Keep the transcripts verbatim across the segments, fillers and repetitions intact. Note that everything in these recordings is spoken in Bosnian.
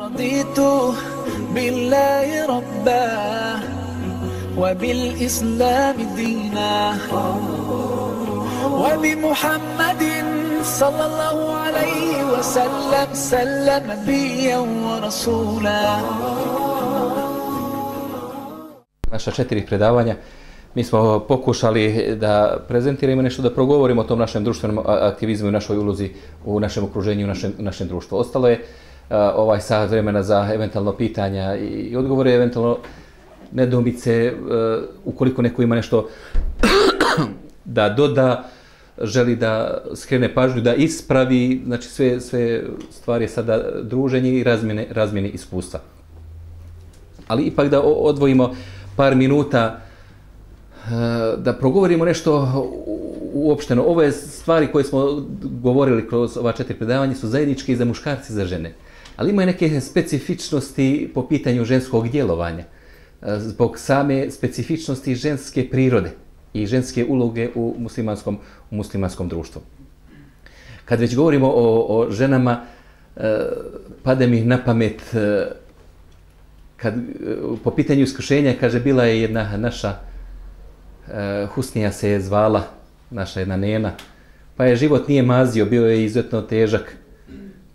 رضيت بالله ربا وبالإسلام دينا وبمحمد صلى الله عليه وسلم سلم نبيا ورسولا. Naša četiri predavanja mi smo pokušali da prezentiramo nešto, da progovorimo o tom našem društvenom aktivizmu i našoj ulozi u našem okruženju, u našem, našem društvu. Ostalo je uh, ovaj sat vremena za eventualno pitanja i odgovore, eventualno nedoumice, uh, ukoliko neko ima nešto da doda, želi da skrene pažnju, da ispravi, znači sve, sve stvari je sada druženje i razmjene, razmjene iskustva. Ali ipak da odvojimo par minuta da progovorimo nešto uopšteno. Ove stvari koje smo govorili kroz ova četiri predavanja su zajedničke i za muškarce i za žene. Ali imaju neke specifičnosti po pitanju ženskog djelovanja. Zbog same specifičnosti ženske prirode i ženske uloge u muslimanskom, u muslimanskom društvu. Kad već govorimo o, o ženama, pade mi na pamet, kad, po pitanju iskušenja, kaže, bila je jedna naša, Husnija se je zvala, naša jedna nena, pa je život nije mazio, bio je izuzetno težak.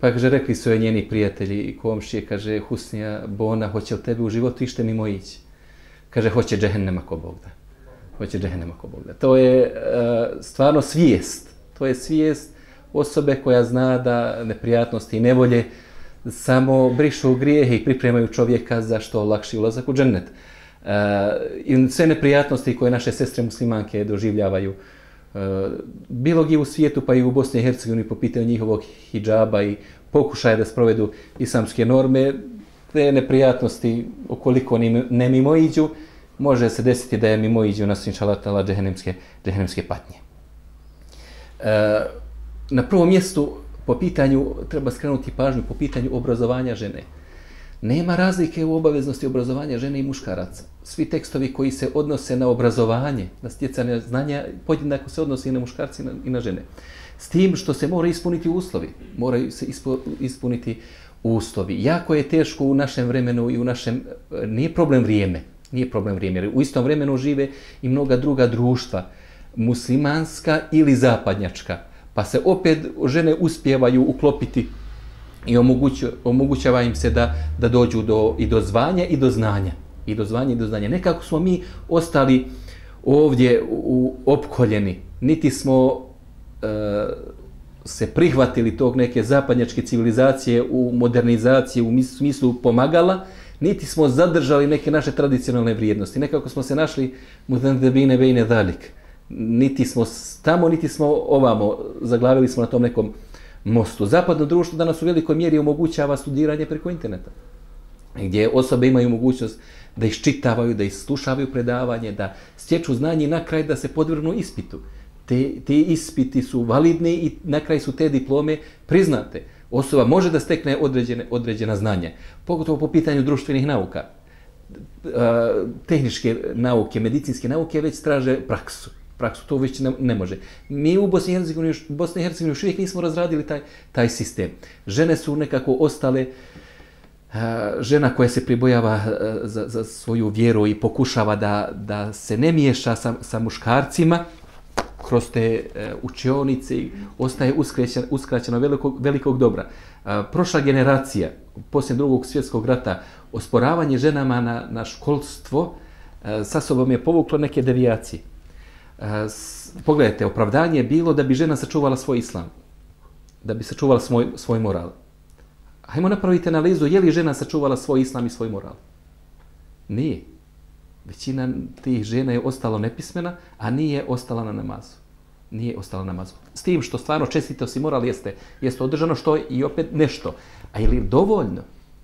Pa kaže, rekli su joj njeni prijatelji i komšije, kaže, Husnija, Bona, hoće li tebi u životu ište mimo ići? Kaže, hoće džehennema ko Bog da. Hoće džehennema ko Bog da. To je uh, stvarno svijest. To je svijest osobe koja zna da neprijatnosti i nevolje samo brišu grijehe i pripremaju čovjeka za što lakši ulazak u džennet. Uh, I sve neprijatnosti koje naše sestre muslimanke doživljavaju uh, bilo gdje u svijetu, pa i u Bosni i Hercegovini po pitanju njihovog hidžaba i pokušaja da sprovedu islamske norme, te neprijatnosti ukoliko ne mimoiđu, može se desiti da je mimoiđu nas inšalatala džehennemske, džehennemske patnje. Uh, na prvom mjestu po pitanju, treba skrenuti pažnju po pitanju obrazovanja žene. Nema razlike u obaveznosti obrazovanja žene i muškaraca. Svi tekstovi koji se odnose na obrazovanje, na stjecanje znanja, podjednako se odnose i na muškarci i na, i na žene. S tim što se mora ispuniti uslovi. Moraju se ispo, ispuniti uslovi. Jako je teško u našem vremenu i u našem... Nije problem vrijeme. Nije problem vrijeme. Jer u istom vremenu žive i mnoga druga društva. Muslimanska ili zapadnjačka. Pa se opet žene uspijevaju uklopiti i omoguću, omogućava im se da, da dođu do, i do zvanja i do znanja. I do zvanja i do znanja. Nekako smo mi ostali ovdje u, opkoljeni. Niti smo e, se prihvatili tog neke zapadnjačke civilizacije u modernizaciji, u smislu pomagala, niti smo zadržali neke naše tradicionalne vrijednosti. Nekako smo se našli mudendebine bejne dalik. Niti smo tamo, niti smo ovamo. Zaglavili smo na tom nekom mostu. Zapadno društvo danas u velikoj mjeri omogućava studiranje preko interneta, gdje osobe imaju mogućnost da iščitavaju, da islušavaju predavanje, da stječu znanje i na kraj da se podvrgnu ispitu. Te, te ispiti su validni i na kraj su te diplome priznate. Osoba može da stekne određene, određena znanja, pogotovo po pitanju društvenih nauka. Tehničke nauke, medicinske nauke već traže praksu. Praksu to već ne, ne može. Mi u Bosni i Hercegovini, Bosni i Hercegovini još uvijek nismo razradili taj, taj sistem. Žene su nekako ostale, uh, žena koja se pribojava uh, za, za svoju vjeru i pokušava da, da se ne miješa sa, sa muškarcima kroz te uh, učionice, ostaje uskraćena, uskraćena velikog, velikog dobra. Uh, prošla generacija, poslije drugog svjetskog rata, osporavanje ženama na, na školstvo uh, sa sobom je povuklo neke devijacije. Uh, pogledajte, opravdanje je bilo da bi žena sačuvala svoj islam, da bi sačuvala svoj, svoj moral. Hajmo napraviti analizu, je li žena sačuvala svoj islam i svoj moral? Nije. Većina tih žena je ostalo nepismena, a nije ostala na namazu. Nije ostala na namazu. S tim što stvarno čestitost i moral jeste, jeste održano, što je i opet nešto. A je li dovoljno?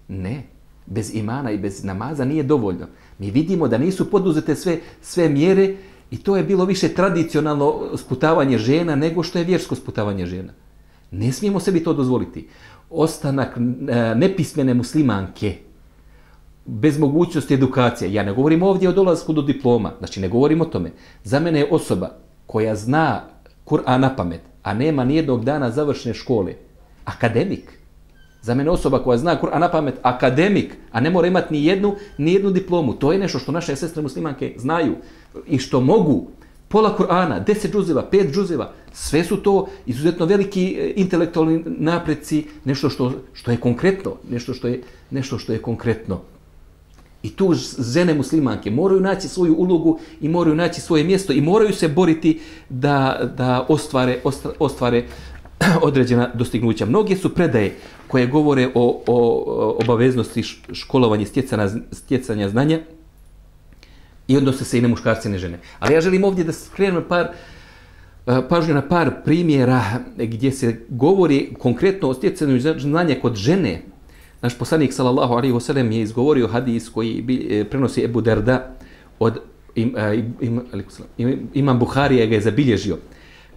Ne. Bez imana i bez namaza nije dovoljno. Mi vidimo da nisu poduzete sve, sve mjere. I to je bilo više tradicionalno sputavanje žena nego što je vjersko sputavanje žena. Ne smijemo sebi to dozvoliti. Ostanak nepismene muslimanke bez mogućnosti edukacije. Ja ne govorim ovdje o dolasku do diploma. Znači ne govorim o tome. Za mene je osoba koja zna Kur'an na pamet, a nema nijednog dana završene škole, akademik. Za mene osoba koja zna Kur'an na pamet, akademik, a ne mora imati ni jednu, ni jednu diplomu. To je nešto što naše sestre muslimanke znaju i što mogu. Pola Kur'ana, deset džuzeva, pet džuzeva, sve su to izuzetno veliki intelektualni napreci, nešto što, što je konkretno, nešto što je, nešto što je konkretno. I tu žene muslimanke moraju naći svoju ulogu i moraju naći svoje mjesto i moraju se boriti da, da ostvare, ostvare određena dostignuća. Mnoge su predaje koje govore o, o obaveznosti školovanja i stjecanja, stjecanja znanja i odnose se i na muškarce i na žene. Ali ja želim ovdje da skrenem par, pažnju na par primjera gdje se govori konkretno o stjecanju znanja kod žene. Naš poslanik sallallahu alejhi ve sellem je izgovorio hadis koji prenosi Ebu Derda od im, im, im, Imam Buharija ga je zabilježio.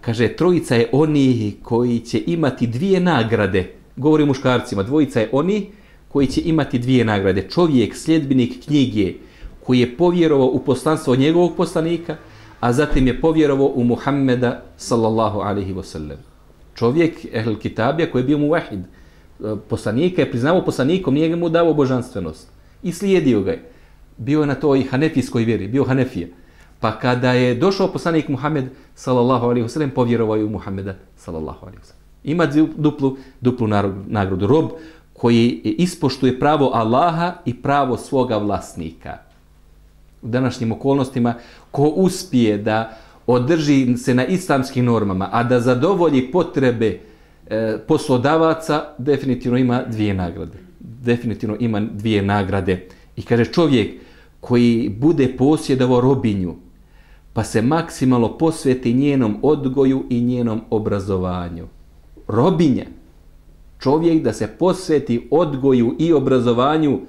Kaže, trojica je oni koji će imati dvije nagrade. Govori o muškarcima, dvojica je oni koji će imati dvije nagrade. Čovjek, sljedbenik knjige, koji je povjerovao u poslanstvo njegovog poslanika, a zatim je povjerovao u Muhammeda sallallahu alejhi ve sellem. Čovjek, ehl kitabija, koji je bio muvahid, poslanika je priznao poslanikom, nije mu dao božanstvenost. I slijedio ga je. Bio je na toj hanefijskoj vjeri, bio hanefija. Pa kada je došao poslanik Muhammed sallallahu alejhi ve sellem, povjerovao je u Muhammeda sallallahu alejhi ve sellem. Ima duplu, duplu nagradu. Rob koji ispoštuje pravo Allaha i pravo svoga vlasnika. U današnjim okolnostima, ko uspije da održi se na islamskim normama, a da zadovolji potrebe e, poslodavaca, definitivno ima dvije nagrade. Definitivno ima dvije nagrade. I kaže, čovjek koji bude posjedovao robinju, pa se maksimalno posveti njenom odgoju i njenom obrazovanju. Robinja. Čovjek da se posveti odgoju i obrazovanju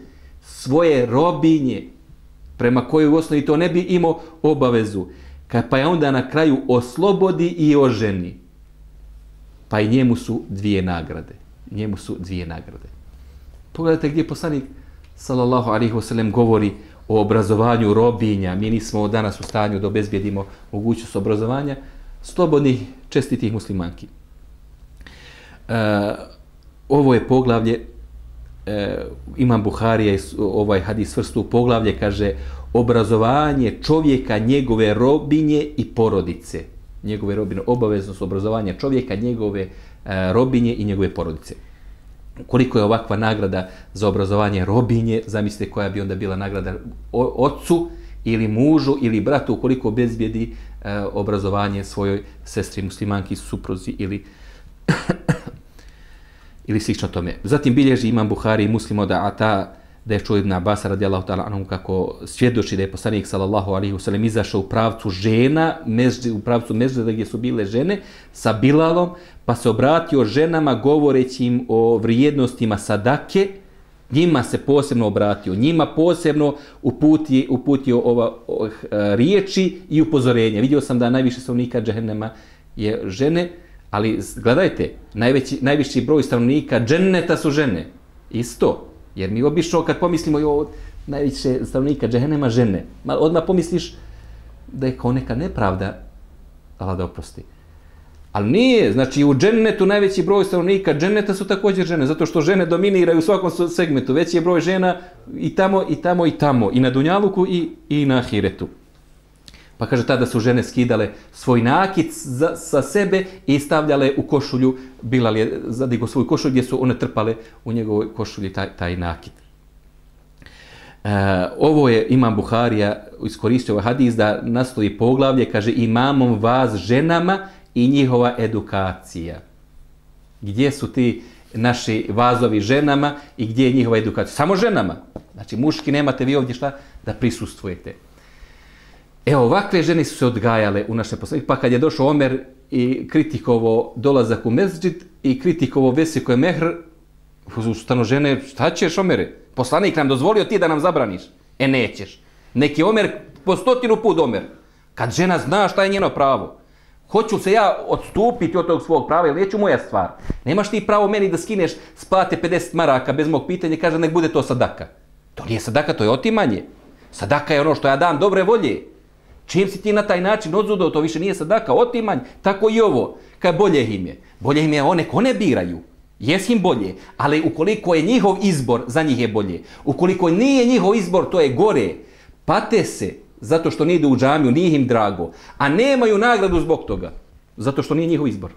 svoje robinje, prema kojoj u osnovi to ne bi imao obavezu, pa je onda na kraju oslobodi i oženi. Pa i njemu su dvije nagrade. Njemu su dvije nagrade. Pogledajte gdje poslanik sallallahu alejhi ve sellem govori o obrazovanju robinja. Mi nismo danas u stanju da obezbijedimo mogućnost obrazovanja slobodnih, čestitih muslimanki. E, ovo je poglavlje, e, Imam Buharija ovaj hadis svrstu u poglavlje, kaže obrazovanje čovjeka, njegove robinje i porodice. Njegove robine, obaveznost obrazovanja čovjeka, njegove e, robinje i njegove porodice. Koliko je ovakva nagrada za obrazovanje robinje, zamislite koja bi onda bila nagrada ocu ili mužu ili bratu ukoliko obezbijedi e, obrazovanje svojoj sestri muslimanki, supruzi ili ili slično tome. Zatim bilježi Imam Buhari i Muslim od Ata da je čuo Ibn Abasa radijallahu ta'ala anhu kako svjedoči da je poslanik sallallahu alejhi ve sellem izašao u pravcu žena, meždi, u pravcu mežda gdje su bile žene sa Bilalom, pa se obratio ženama govoreći im o vrijednostima sadake, njima se posebno obratio, njima posebno uputio, uputio ova o, riječi i upozorenja. Vidio sam da najviše stanovnika džehennema je žene, ali gledajte, najveći, najviši broj stanovnika dženneta su žene. Isto. Jer mi obično kad pomislimo o najviše stanovnika džehennema žene, odmah pomisliš da je kao neka nepravda, Allah da oprosti. Ali nije, znači u džennetu najveći broj stanovnika dženneta su također žene, zato što žene dominiraju u svakom segmentu. Veći je broj žena i tamo, i tamo, i tamo. I na dunjaluku i, i na ahiretu. Pa kaže, tada su žene skidale svoj nakit za, sa sebe i stavljale u košulju, Bilal je zadigo svoju košulju gdje su one trpale u njegovoj košulji taj, taj nakit. E, ovo je Imam Buharija iskoristio ovaj hadis da naslovi poglavlje, kaže, imamom vas ženama i njihova edukacija. Gdje su ti naši vazovi ženama i gdje je njihova edukacija? Samo ženama. Znači, muški nemate vi ovdje šta da prisustvujete. Evo, ovakve žene su se odgajale u našem poslaniku, pa kad je došao Omer i kritikovo dolazak u mezđid i kritikovo vesiko je mehr, ustano žene, šta ćeš Omere? Poslanik nam dozvolio ti da nam zabraniš. E, nećeš. Neki Omer, po stotinu put Omer. Kad žena zna šta je njeno pravo. Hoću se ja odstupiti od tog svog prava, ili neću moja stvar. Nemaš ti pravo meni da skineš s plate pedeset maraka bez mog pitanja i kaže nek bude to sadaka. To nije sadaka, to je otimanje. Sadaka je ono što ja dam dobre volje. Čim si ti na taj način odzudao, to više nije sadaka, otimanj, tako i ovo. Kaj bolje im je? Bolje im je one ko ne biraju. Jes im bolje, ali ukoliko je njihov izbor, za njih je bolje. Ukoliko nije njihov izbor, to je gore. Pate se zato što ne idu u džamiju, nije im drago, a nemaju nagradu zbog toga, zato što nije njihov izbor.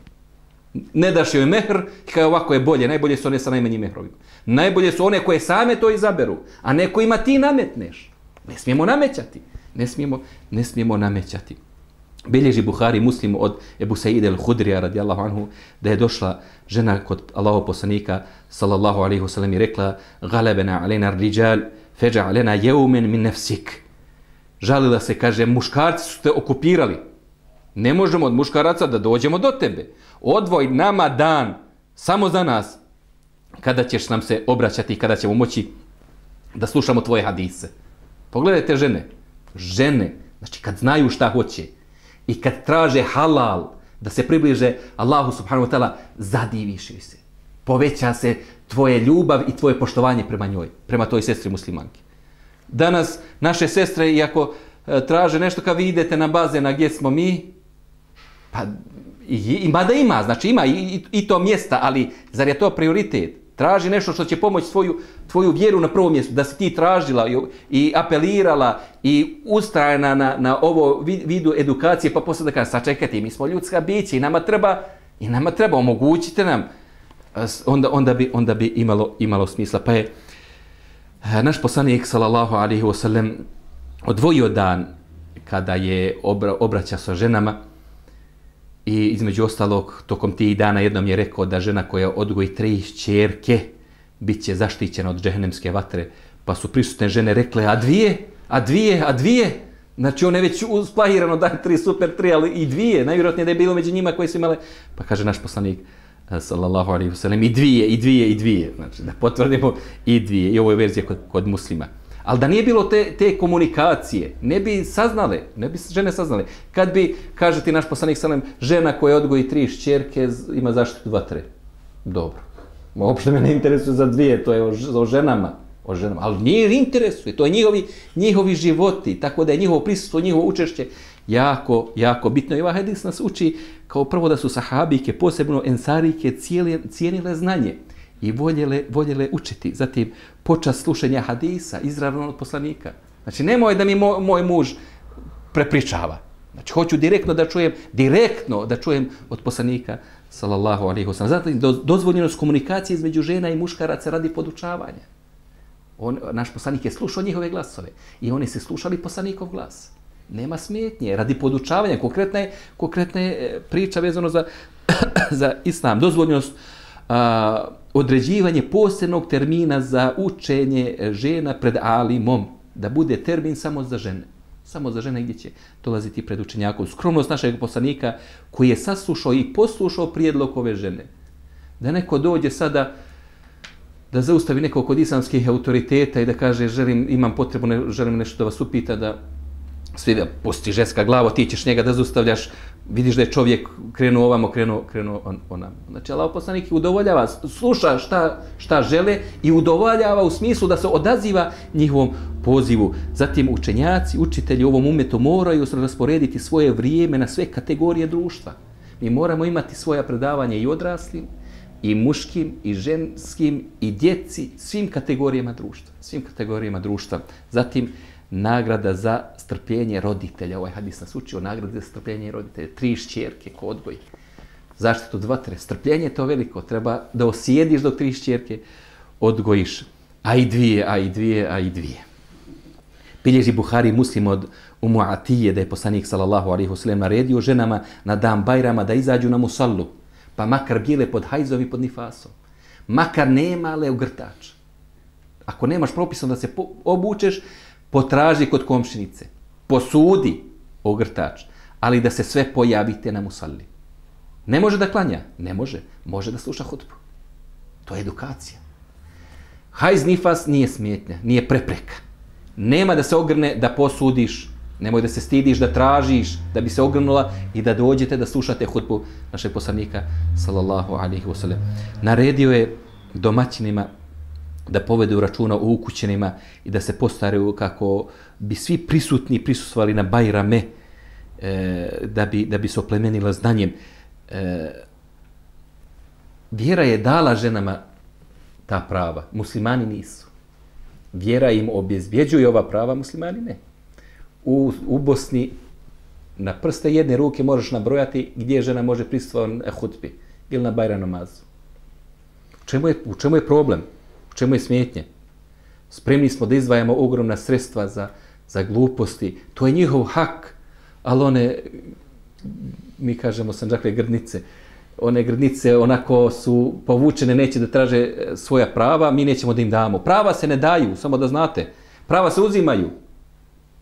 Ne daš joj mehr, kao ovako je bolje, najbolje su one sa najmanjim mehrovima. Najbolje su one koje same to izaberu, a ne kojima ti nametneš. Ne smijemo namećati, ne smijemo, ne smijemo namećati. Bilježi Buhari Muslim od Ebu Sa'id al-Hudrija radijallahu anhu da je došla žena kod Allahov poslanika sallallahu alejhi ve sellem i rekla: "Galabana alejna ar-rijal faj'alna yawman min nafsik." Žalila se, kaže, muškarci su te okupirali. Ne možemo od muškaraca da dođemo do tebe. Odvoj nama dan samo za nas kada ćeš nam se obraćati, kada ćemo moći da slušamo tvoje hadise. Pogledajte žene. Žene, znači kad znaju šta hoće i kad traže halal, da se približe Allahu subhanahu wa ta'ala, zadiviš joj se. Poveća se tvoje ljubav i tvoje poštovanje prema njoj, prema toj sestri muslimanki. Danas naše sestre, iako e, traže nešto, kad vi idete na bazen, a gdje smo mi, pa ima da ima, znači ima i, i, i to mjesta, ali zar je to prioritet? Traži nešto što će pomoći svoju, tvoju vjeru na prvom mjestu, da si ti tražila i, i apelirala i ustrajena na, na ovo vidu edukacije, pa posle da kaže, sačekajte, mi smo ljudska bića i nama treba, i nama treba, omogućite nam, onda, onda, bi, onda bi imalo, imalo smisla. Pa je naš poslanik sallallahu alejhi ve sellem odvojio dan kada je obra, obraća sa ženama i između ostalog tokom tih dana jednom je rekao da žena koja odgoji tri ćerke bit će zaštićena od džehennemske vatre. Pa su prisutne žene rekle, a dvije, a dvije, a dvije. Znači on je već usplahirano da tri, super tri, ali i dvije. Najvjerojatnije da je bilo među njima koji su imale. Pa kaže naš poslanik sallallahu alejhi ve sellem i dvije, i dvije, i dvije. Znači da potvrdimo i dvije. I ovo je verzija kod, kod muslima. Ali da nije bilo te, te komunikacije, ne bi saznale, ne bi žene saznale. Kad bi, kaže ti naš poslanik sallam, žena koja odgoji tri šćerke ima zaštitu vatre. Dobro. Uopšte me ne interesuje za dvije, to je o, o ženama. O ženama. Ali nije interesuje, to je njihovi, njihovi životi, tako da je njihovo prisustvo, njihovo učešće jako, jako bitno. I ovaj hadis nas uči kao prvo da su sahabike, posebno ensarike, cijeli, cijenile znanje i voljele, voljele učiti. Zatim, počast slušanja hadisa, izravno od poslanika. Znači, nemoj da mi moj, moj muž prepričava. Znači, hoću direktno da čujem, direktno da čujem od poslanika, sallallahu alejhi ve sellem. Zatim, do, dozvoljenost komunikacije između žena i muškaraca radi podučavanja. On, naš poslanik je slušao njihove glasove i oni se slušali poslanikov glas. Nema smetnje, radi podučavanja. Konkretna je, konkretna je priča vezano za, za islam. Dozvoljenost a, određivanje posebnog termina za učenje žena pred alimom, da bude termin samo za žene. Samo za žene gdje će dolaziti pred učenjakom. Skromnost našeg poslanika koji je saslušao i poslušao prijedlog ove žene. Da neko dođe sada da zaustavi nekog kod islamskih autoriteta i da kaže želim, imam potrebu, ne, želim nešto da vas upita, da svi da pusti ženska glavo, ti ćeš njega da zaustavljaš, vidiš da je čovjek krenuo ovamo, krenuo, krenuo on, onam. Znači, Allah poslanik udovoljava, sluša šta, šta žele i udovoljava u smislu da se odaziva njihovom pozivu. Zatim učenjaci, učitelji u ovom umetu moraju rasporediti svoje vrijeme na sve kategorije društva. Mi moramo imati svoja predavanja i odraslim, i muškim, i ženskim, i djeci, svim kategorijama društva. Svim kategorijama društva. Zatim, nagrada za strpljenje roditelja. Ovaj hadis nas uči o nagradi za strpljenje roditelja. Tri šćerke ko odgoji. Zaštitu od vatre. Strpljenje je to veliko. Treba da osjediš dok tri šćerke odgojiš. A i dvije, a i dvije, a i dvije. Bilježi Buhari Muslim od Umu Atije da je poslanik sallallahu alejhi ve sellem naredio ženama na dan Bajrama da izađu na musallu. Pa makar bile pod hajzom i pod nifasom. Makar nemale ogrtač. Ako nemaš propisano da se obučeš, potraži kod komšinice. Posudi ogrtač. Ali da se sve pojavite na musalli. Ne može da klanja? Ne može. Može da sluša hutbu. To je edukacija. Hajz nifas nije smetnja, nije prepreka. Nema da se ogrne da posudiš. Nemoj da se stidiš, da tražiš, da bi se ogrnula i da dođete da slušate hutbu našeg poslanika, sallallahu alejhi ve sellem. Naredio je domaćinima da povedu računa o ukućenima i da se postaraju kako bi svi prisutni prisustvovali na Bajrame, e, da, bi, da bi se oplemenila znanjem. E, vjera je dala ženama ta prava, muslimani nisu. Vjera im obezbjeđuje ova prava, muslimani ne. U, u Bosni na prste jedne ruke možeš nabrojati gdje žena može prisustvovati na hutbi ili na Bajram namazu. U čemu je, u čemu je problem? U čemu je smetnje? Spremni smo da izdvajamo ogromna sredstva za, za gluposti. To je njihov hak, ali one, mi kažemo sanđakle grdnice, one grdnice onako su povučene, neće da traže svoja prava, mi nećemo da im damo. Prava se ne daju, samo da znate. Prava se uzimaju.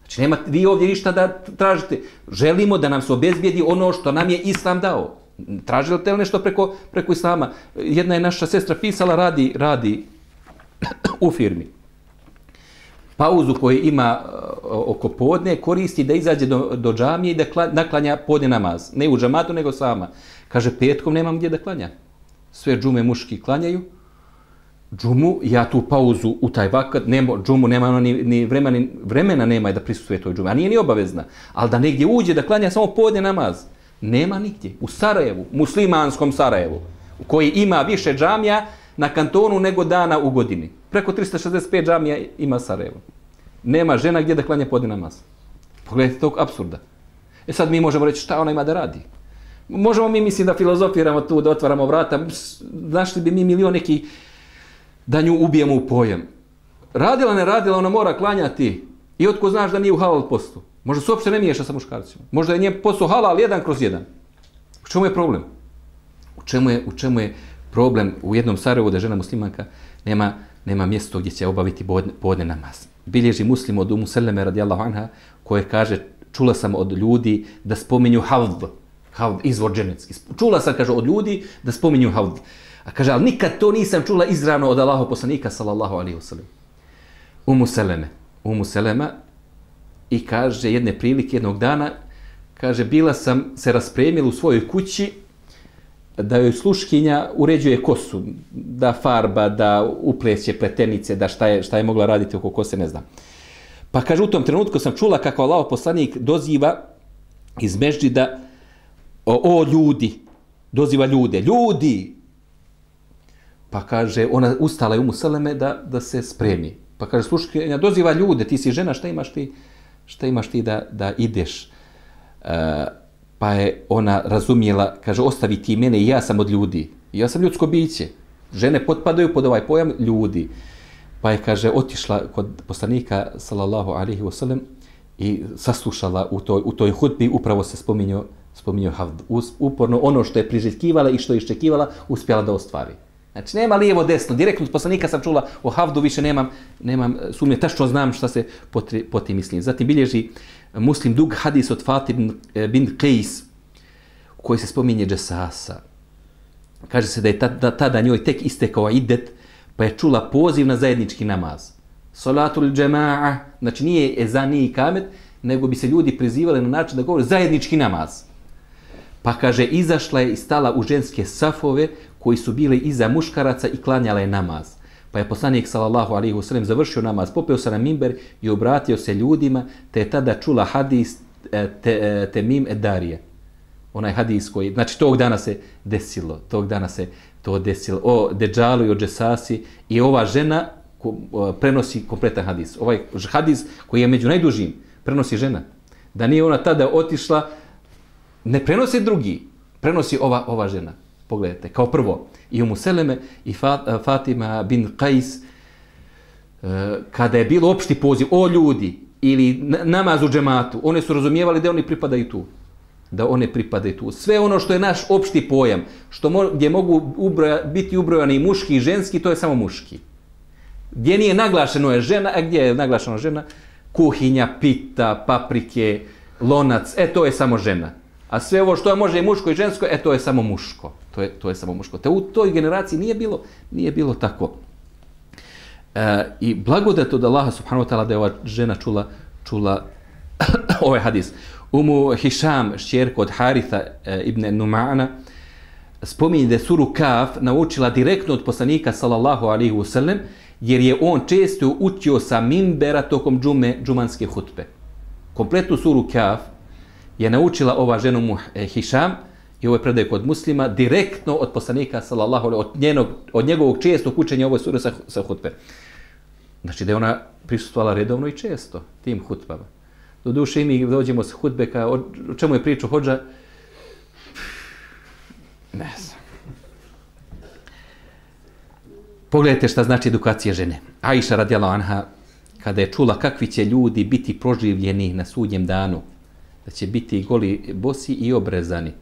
Znači, nema vi ovdje ništa da tražite. Želimo da nam se obezbijedi ono što nam je Islam dao. Tražite li nešto preko, preko Islama? Jedna je naša sestra pisala, radi, radi u firmi. Pauzu koju ima oko podne koristi da izađe do, do džamije i da kla, naklanja podne namaz. Ne u džamatu, nego sama. Kaže, petkom nemam gdje da klanja. Sve džume muški klanjaju. Džumu, ja tu pauzu u taj vakat, nema, džumu nema ono ni, ni vremena, ni vremena nema da prisustuje toj džume, a nije ni obavezna. Ali da negdje uđe da klanja samo podne namaz. Nema nigdje. U Sarajevu, muslimanskom Sarajevu, u koji ima više džamija na kantonu nego dana u godini. Preko trista šezdeset pet džamija ima Sarajevo. Nema žena gdje da klanja podne namaz. Pogledajte tog apsurda. E sad mi možemo reći šta ona ima da radi. Možemo mi, mislim, da filozofiramo tu, da otvaramo vrata. Našli bi mi milion neki da nju ubijemo u pojam. Radila, ne radila, ona mora klanjati. I otko znaš da nije u halal postu. Možda se uopšte ne miješa sa muškarcima. Možda je njen posao halal jedan kroz jedan. U čemu je problem? U čemu je, u čemu je problem u jednom Sarajevu da žena muslimanka nema, nema mjesto gdje će obaviti podne namaz? Bilježi Muslim od Umu Seleme radijallahu anha, koje kaže, čula sam od ljudi da spominju havd, havd, izvor dženecki. Čula sam, kaže, od ljudi da spominju havd. A kaže, ali nikad to nisam čula izravno od Allahov poslanika, sallallahu alaihi wasallam. Umu Seleme, Umu Selema, i kaže, jedne prilike, jednog dana, kaže, bila sam se raspremila u svojoj kući da joj sluškinja uređuje kosu, da farba, da upleće pletenice, da šta je, šta je mogla raditi oko kose, ne znam. Pa kaže, u tom trenutku sam čula kako Allahov poslanik doziva iz mežđida, o, o ljudi, doziva ljude, ljudi! Pa kaže, ona ustala je Umu Seleme da, da se spremi. Pa kaže, sluškinja, doziva ljude, ti si žena, šta imaš ti, šta imaš ti da, da ideš? E, pa je ona razumijela, kaže, ostavi ti mene i ja sam od ljudi. Ja sam ljudsko biće. Žene potpadaju pod ovaj pojam ljudi. Pa je, kaže, otišla kod poslanika, sallallahu alaihi wasallam, i saslušala u toj, u toj hutbi, upravo se spominjao, spominjao havd. Uporno ono što je priželjkivala i što je iščekivala, uspjela da ostvari. Znači, nema lijevo desno. Direktno od poslanika sam čula o havdu, više nemam, nemam sumnje, tačno znam šta se po tim mislim. Zatim bilježi Muslim dug hadis od Fatih bin Qejs, u kojoj se spominje džesasa. Kaže se da je tada, tada njoj tek istekao idet, pa je čula poziv na zajednički namaz. Salatul džema'a, znači nije ezan, nije ikamet, nego bi se ljudi prizivali na način da govore zajednički namaz. Pa kaže, izašla je i stala u ženske safove koji su bili iza muškaraca i klanjala je namaz. Pa je poslanik sallallahu alejhi ve sellem završio namaz, popeo se na mimber i obratio se ljudima, te je tada čula hadis te, Temim Edarije. Onaj hadis koji, znači tog dana se desilo, tog dana se to desilo, o Deđalu i o Džesasi, i ova žena ko, o, prenosi kompletan hadis. Ovaj hadis koji je među najdužim, prenosi žena. Da nije ona tada otišla, ne prenosi drugi, prenosi ova, ova žena. Pogledajte, kao prvo, i Umu Seleme i Fatima bin Qajs, kada je bilo opšti poziv, o ljudi, ili namaz u džematu, one su razumijevali da oni pripadaju tu. Da one pripadaju tu. Sve ono što je naš opšti pojam, što mo, gdje mogu ubroja, biti ubrojani i muški i ženski, to je samo muški. Gdje nije naglašeno je žena, a gdje je naglašeno žena? Kuhinja, pita, paprike, lonac, e to je samo žena. A sve ovo što može i muško i žensko, e to je samo muško. To je, to je samo muško. Te u toj generaciji nije bilo, nije bilo tako. E, I blagodat od Allaha subhanahu wa ta'ala da je ova žena čula, čula ovaj hadis. Umu Hišam, šćerka od Haritha e, ibn Numana, spominje da je suru Kaf naučila direktno od poslanika sallallahu alaihi wa sallam, jer je on često učio sa mimbera tokom džume, džumanske hutbe. Kompletnu suru Kaf je naučila ova žena mu Hišam i ovo je predaj kod Muslima, direktno od poslanika, sallallahu alejhi, od, njenog, od njegovog čestog učenja ovoj suri sa, sa hutbe. Znači da je ona prisustvovala redovno i često tim hutbama. Doduše i mi dođemo s hutbe, ka, o, o čemu je priču hodža? Ne znam. Pogledajte šta znači edukacija žene. Aisha radijallahu anha, kada je čula kakvi će ljudi biti proživljeni na sudnjem danu, da će biti goli, bosi i obrezani,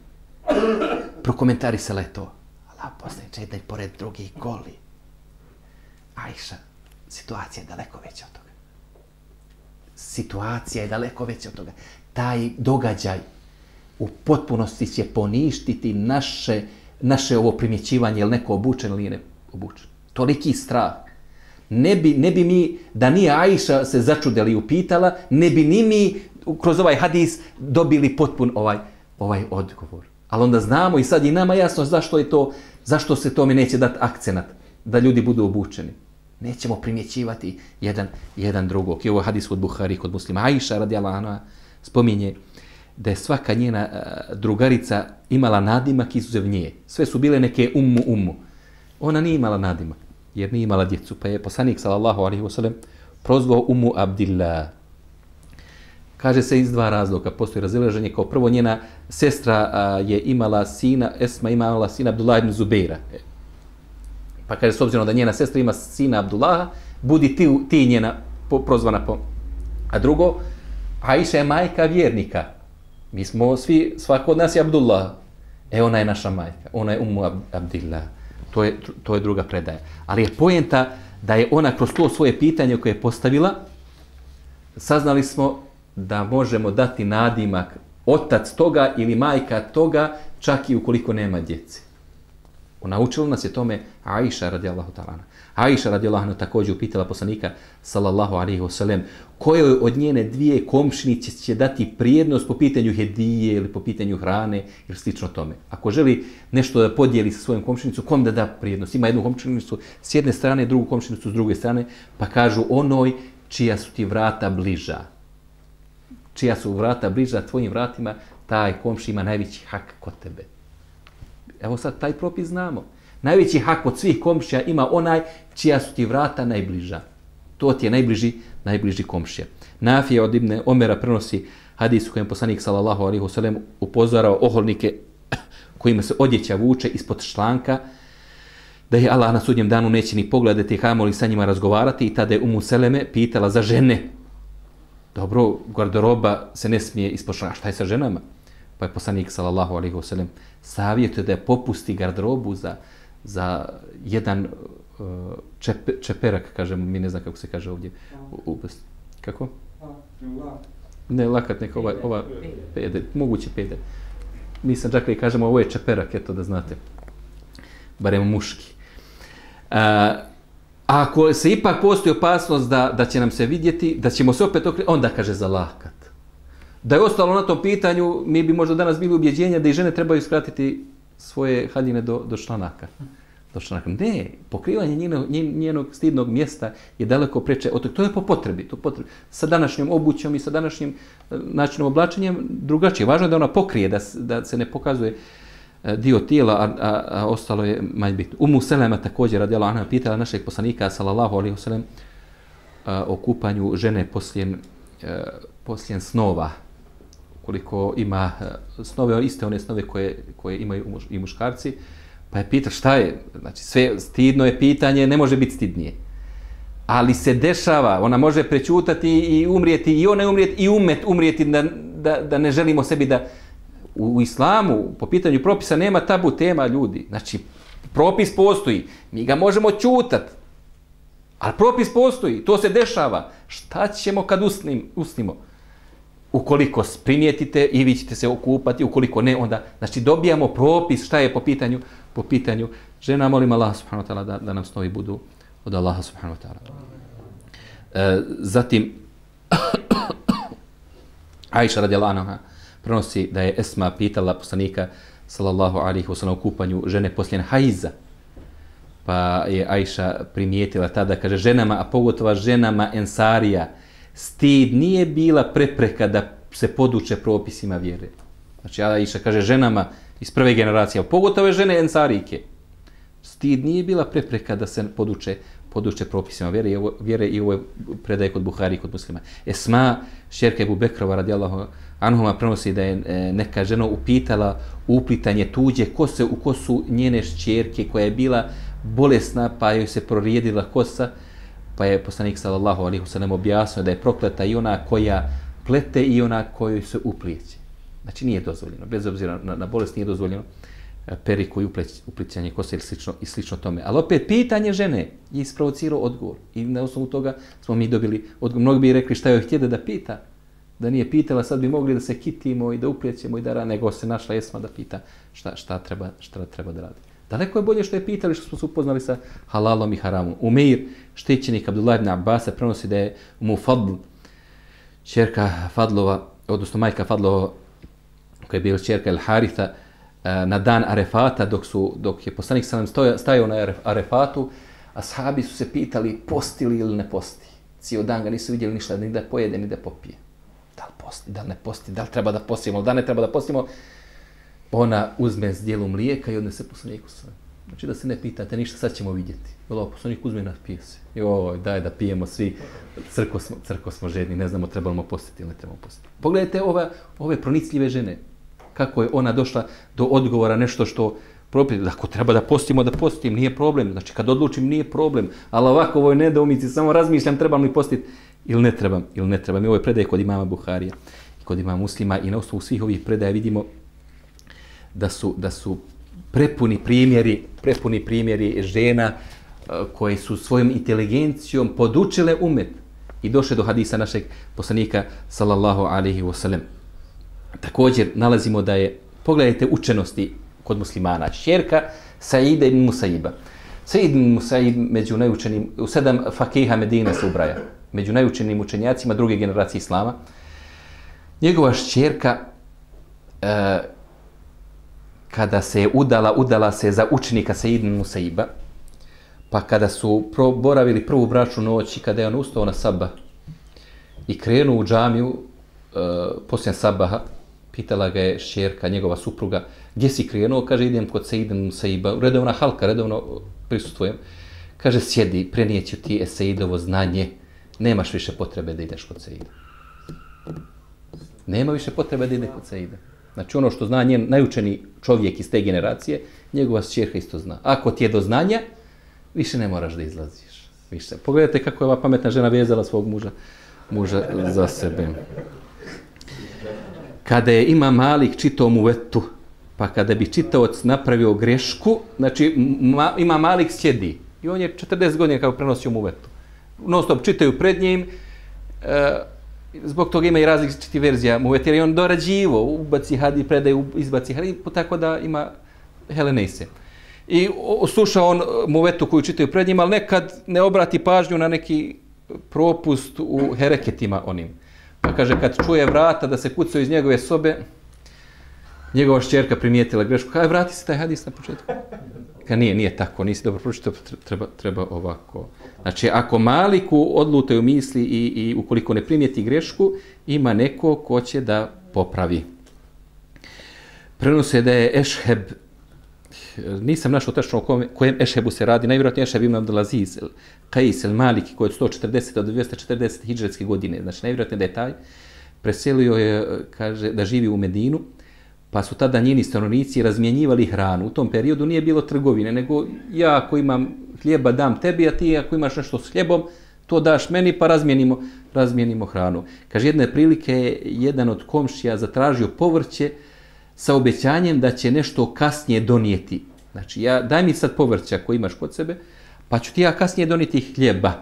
prokomentarisala je to. Allah poslaniče, jedan pored drugih goli. Aisha, situacija je daleko veća od toga. Situacija je daleko veća od toga. Taj događaj u potpunosti će poništiti naše, naše ovo primjećivanje, je li neko obučen ili ne obučen. Toliki strah. Ne bi, ne bi mi, da nije Aisha se začudila i upitala, ne bi ni mi kroz ovaj hadis dobili potpun ovaj, ovaj odgovor. Ali onda znamo i sad i nama jasno zašto je to, zašto se tome neće dati akcenat, da ljudi budu obučeni. Nećemo primjećivati jedan, jedan drugog. I ovo je hadis kod Buhari, kod Muslima. Aisha radijallahu anha spominje da je svaka njena drugarica imala nadimak izuzev nje. Sve su bile neke ummu ummu. Ona nije imala nadimak, jer nije imala djecu. Pa je poslanik sallallahu alejhi ve sellem prozvao Ummu Abdillah. Kaže se iz dva razloga. Postoji razilaženje. Kao prvo, njena sestra a, je imala sina, Esma imala sina Abdullah ibn Zubeira. Pa kaže, s obzirom da njena sestra ima sina Abdullaha, budi ti, ti njena po, prozvana po. A drugo, Aisha je majka vjernika. Mi smo svi, svako od nas je Abdullah. E, ona je naša majka. Ona je Ummu Abdillah. To je, to je druga predaja. Ali je poenta da je ona kroz to svoje pitanje koje je postavila, saznali smo da možemo dati nadimak otac toga ili majka toga, čak i ukoliko nema djece. Naučila nas je tome Aisha radijallahu ta'ala. Aisha radijallahu anha također upitala poslanika sallallahu alejhi ve sellem kojoj od njene dvije komšinice će dati prijednost po pitanju hedije ili po pitanju hrane ili slično tome. Ako želi nešto da podijeli sa svojom komšinicom, kom da da prijednost? Ima jednu komšinicu s jedne strane, drugu komšinicu s druge strane, pa kažu onoj čija su ti vrata bliža. Čija su vrata bliža tvojim vratima, taj komši ima najveći hak kod tebe. Evo sad taj propis znamo. Najveći hak od svih komšija ima onaj čija su ti vrata najbliža. To ti je najbliži, najbliži komšija. Nafija od Ibne Omera prenosi hadis u kojem poslanik sallallahu alejhi ve sellem upozorao oholnike kojima se odjeća vuče ispod šlanka, da je Allah na sudnjem danu neće ni pogledati, kamoli sa njima razgovarati, i tada je Umu Seleme pitala za žene. Dobro, garderoba se ne smije ispod šlanka. Šta je sa ženama? Pa je poslanik sallallahu alejhi ve sellem savjetuje da je popusti garderobu za, za jedan uh, čep, čeperak, kažemo, mi ne znam kako se kaže ovdje. U, u, kako? Ne, lakat neka, ova, ova pede, moguće pede. Mi sam čak i kažemo, ovo je čeperak, eto da znate. Barem muški. Uh, ako se ipak postoji opasnost da, da će nam se vidjeti, da ćemo se opet okrenuti, onda kaže za lakat. Da je ostalo na tom pitanju, mi bi možda danas bili ubjeđenja da i žene trebaju skratiti svoje haljine do, do članaka. Do članaka. Ne, pokrivanje njenog, njenog stidnog mjesta je daleko preče. To je po potrebi, to potrebi. Sa današnjom obućom i sa današnjim načinom oblačenjem drugačije. Važno je da ona pokrije, da, da se ne pokazuje dio tijela, a, a, a ostalo je manje bitno. Umu Selema također, radijallahu anha, pitala našeg poslanika, sallallahu alejhi ve sellem, o kupanju žene poslije, poslije snova. Koliko ima snove, iste one snove koje, koje imaju i muškarci, pa je pita šta je, znači sve stidno je pitanje, ne može biti stidnije. Ali se dešava, ona može prećutati i umrijeti, i ona umrijeti, i umet umrijeti, da, da, da ne želimo sebi da... U, u islamu, po pitanju propisa, nema tabu tema, ljudi. Znači, propis postoji, mi ga možemo ćutati, ali propis postoji, to se dešava. Šta ćemo kad usnim, usnimo? Ukoliko primijetite i vi ćete se okupati, ukoliko ne, onda, znači, dobijamo propis šta je po pitanju, po pitanju žena. Molim Allah subhanahu wa ta'ala da, da nam snovi budu od Allaha subhanahu wa ta'ala. E, zatim, Aisha radijallahu anha prenosi da je Esma pitala poslanika sallallahu alejhi ve sellem o kupanju žene poslije hajza. Pa je Aisha primijetila tada, kaže, ženama, a pogotovo ženama Ensarija, stid nije bila prepreka da se poduče propisima vjere. Znači, Aisha kaže ženama iz prve generacije, pogotovo žene Ensarijke. Stid nije bila prepreka da se poduče, poduče propisima vjere i ovo, vjere i ovo je predaje kod Buhari i kod Muslima. Esma, šćerka Ebu Bekrova radijallahu anhuma, prenosi da je neka žena upitala uplitanje tuđe kose u kosu njene šćerke koja je bila bolesna pa joj se prorijedila kosa, pa je poslanik sallallahu alejhi ve sellem objasnio da je prokleta i ona koja plete i ona kojoj se upliće. Znači nije dozvoljeno, bez obzira na, na bolest nije dozvoljeno periku i uplićanje kose i slično, i slično tome. Ali opet pitanje žene je isprovocirao odgovor i na osnovu toga smo mi dobili odgovor. Mnogi bi rekli šta joj htjede da pita, da nije pitala, sad bi mogli da se kitimo i da uplijećemo i da rade, nego se našla Esma da pita šta, šta, treba, šta treba da radi. Daleko je bolje što je pitali, što smo se upoznali sa halalom i haramom. Umeir, štićenik Abdullah ibn Abbasa, prenosi da je mu Fadl, čerka Fadlova, odnosno majka Fadlova, koja je bila čerka El Haritha, na dan Arefata, dok, su, dok je poslanik sallam stajao na Arefatu, ashabi su se pitali postili ili ne posti. Cijel dan ga nisu vidjeli ništa, ni da pojede, ni da popije. Da li posti, da li ne posti, da li treba da postimo, da ne treba da postimo. Ona uzme s dijelom mlijeka i odnese poslaniku sallam. Znači da se ne pitate ništa, sad ćemo vidjeti. Ovo poslanik uzme i napije se. Joj, daj da pijemo svi, crko smo, crko smo žedni, ne znamo trebamo postiti ili ne trebamo postiti. Pogledajte ove, ove pronicljive žene. Kako je ona došla do odgovora nešto što propiti. Ako treba da postimo, da postim, nije problem. Znači kad odlučim, nije problem. Ali ovako ovoj nedoumici, samo razmišljam trebam li postiti ili ne trebam. Ili ne trebam. I ovo je predaje kod imama Buharija i kod imama Muslima i na osnovu svih ovih predaja vidimo da su, da su prepuni primjeri, prepuni primjeri žena koje su svojom inteligencijom podučile umet i došle do hadisa našeg poslanika sallallahu alejhi ve sellem. Također nalazimo da je, pogledajte učenosti kod muslimana, šćerka Saida ibn Musaiba. Said ibn Musaib među najučenim, u sedam fakiha Medine se ubraja, među najučenim učenjacima druge generacije islama. Njegova šćerka, e, kada se je udala, udala se za učenika Said ibn Musaiba, pa kada su boravili prvu bračnu noć i kada je on ustao na sabah i krenuo u džamiju e, poslije sabaha, pitala ga je šćerka, njegova supruga, gdje si krenuo? Kaže, idem kod Said ibn Musaiba, redovna halka, redovno prisustvujem. Kaže, sjedi, prenijeću ti Saidovo znanje, nemaš više potrebe da ideš kod Saida. Nema više potrebe da ide kod Saida. Znači ono što zna njen najučeni čovjek iz te generacije, njegova šćerka isto zna. Ako ti je do znanja, više ne moraš da izlaziš. Više. Pogledajte kako je ova pametna žena vezala svog muža, muža za sebe. Kada je Imam Malik čitao Muvetu, pa kada bi čitaoc napravio grešku, znači ma, Imam Malik sjedi i on je četrdeset godina kako prenosio Muvetu. Non stop čitaju pred njim, e, zbog toga ima i različitih verzija Muvete, jer je on dorađivo, ubaci hadi, predaju, izbaci hadi, tako da ima Helenejse. I sluša on Muvetu koju čitaju pred njim, ali nekad ne obrati pažnju na neki propust u hereketima onim. Pa kaže, kad čuje vrata da se kucaju iz njegove sobe, njegova šćerka primijetila grešku. Kaj, vrati se taj hadis na početku. Ka nije, nije tako, nisi dobro pročitao, treba, treba ovako. Znači, ako Maliku odlutaju misli i, i ukoliko ne primijeti grešku, ima neko ko će da popravi. Prenose da je Ešheb, nisam našao tačno o kojem Ešhebu se radi, najvjerojatnije Ešheb ibn Abdulaziz, Qais el-Maliki, koji je od sto četrdeset do dvjesto četrdeset hidžretske godine, znači najvjerojatnije da je taj, preselio je, kaže, da živi u Medinu, pa su tada njeni stanovnici razmjenjivali hranu. U tom periodu nije bilo trgovine, nego ja ako imam hljeba dam tebi, a ti ako imaš nešto s hljebom, to daš meni pa razmijenimo, razmijenimo hranu. Kaže, jedne prilike je jedan od komšija zatražio povrće sa obećanjem da će nešto kasnije donijeti. Znači, ja, daj mi sad povrća koji imaš kod sebe, pa ću ti ja kasnije donijeti hljeba.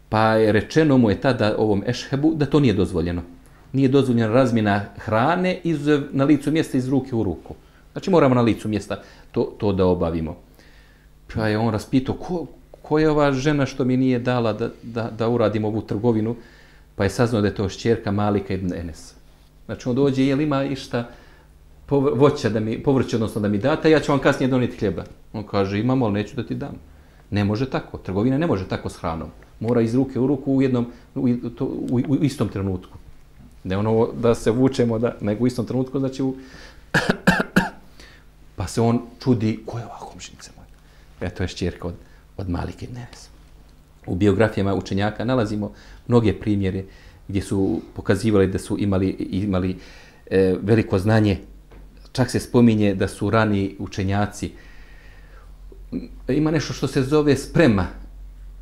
Pa je rečeno mu je tada ovom Ešhebu da to nije dozvoljeno. Nije dozvoljena razmjena hrane iz, na licu mjesta iz ruke u ruku. Znači moramo na licu mjesta to, to da obavimo. Pa je on raspitao, ko, ko je ova žena što mi nije dala da, da, da uradim ovu trgovinu? Pa je saznao da je to šćerka Malika ibn Enesa. Znači on dođe, jel ima išta voća da mi, povrće, odnosno da mi date, ja ću vam kasnije donijeti hljeba. On kaže, imamo, ali neću da ti dam. Ne može tako, trgovina ne može tako s hranom. Mora iz ruke u ruku u, jednom, u, to, u, u istom trenutku. Ne ono da se vučemo, da, nego u istom trenutku, znači u, Pa se on čudi, ko je ova komšinica moja? E, to je šćerka od, od Malike ibn Enesa. U biografijama učenjaka nalazimo mnoge primjere gdje su pokazivali da su imali, imali e, veliko znanje. Čak se spominje da su rani učenjaci. Ima nešto što se zove sprema.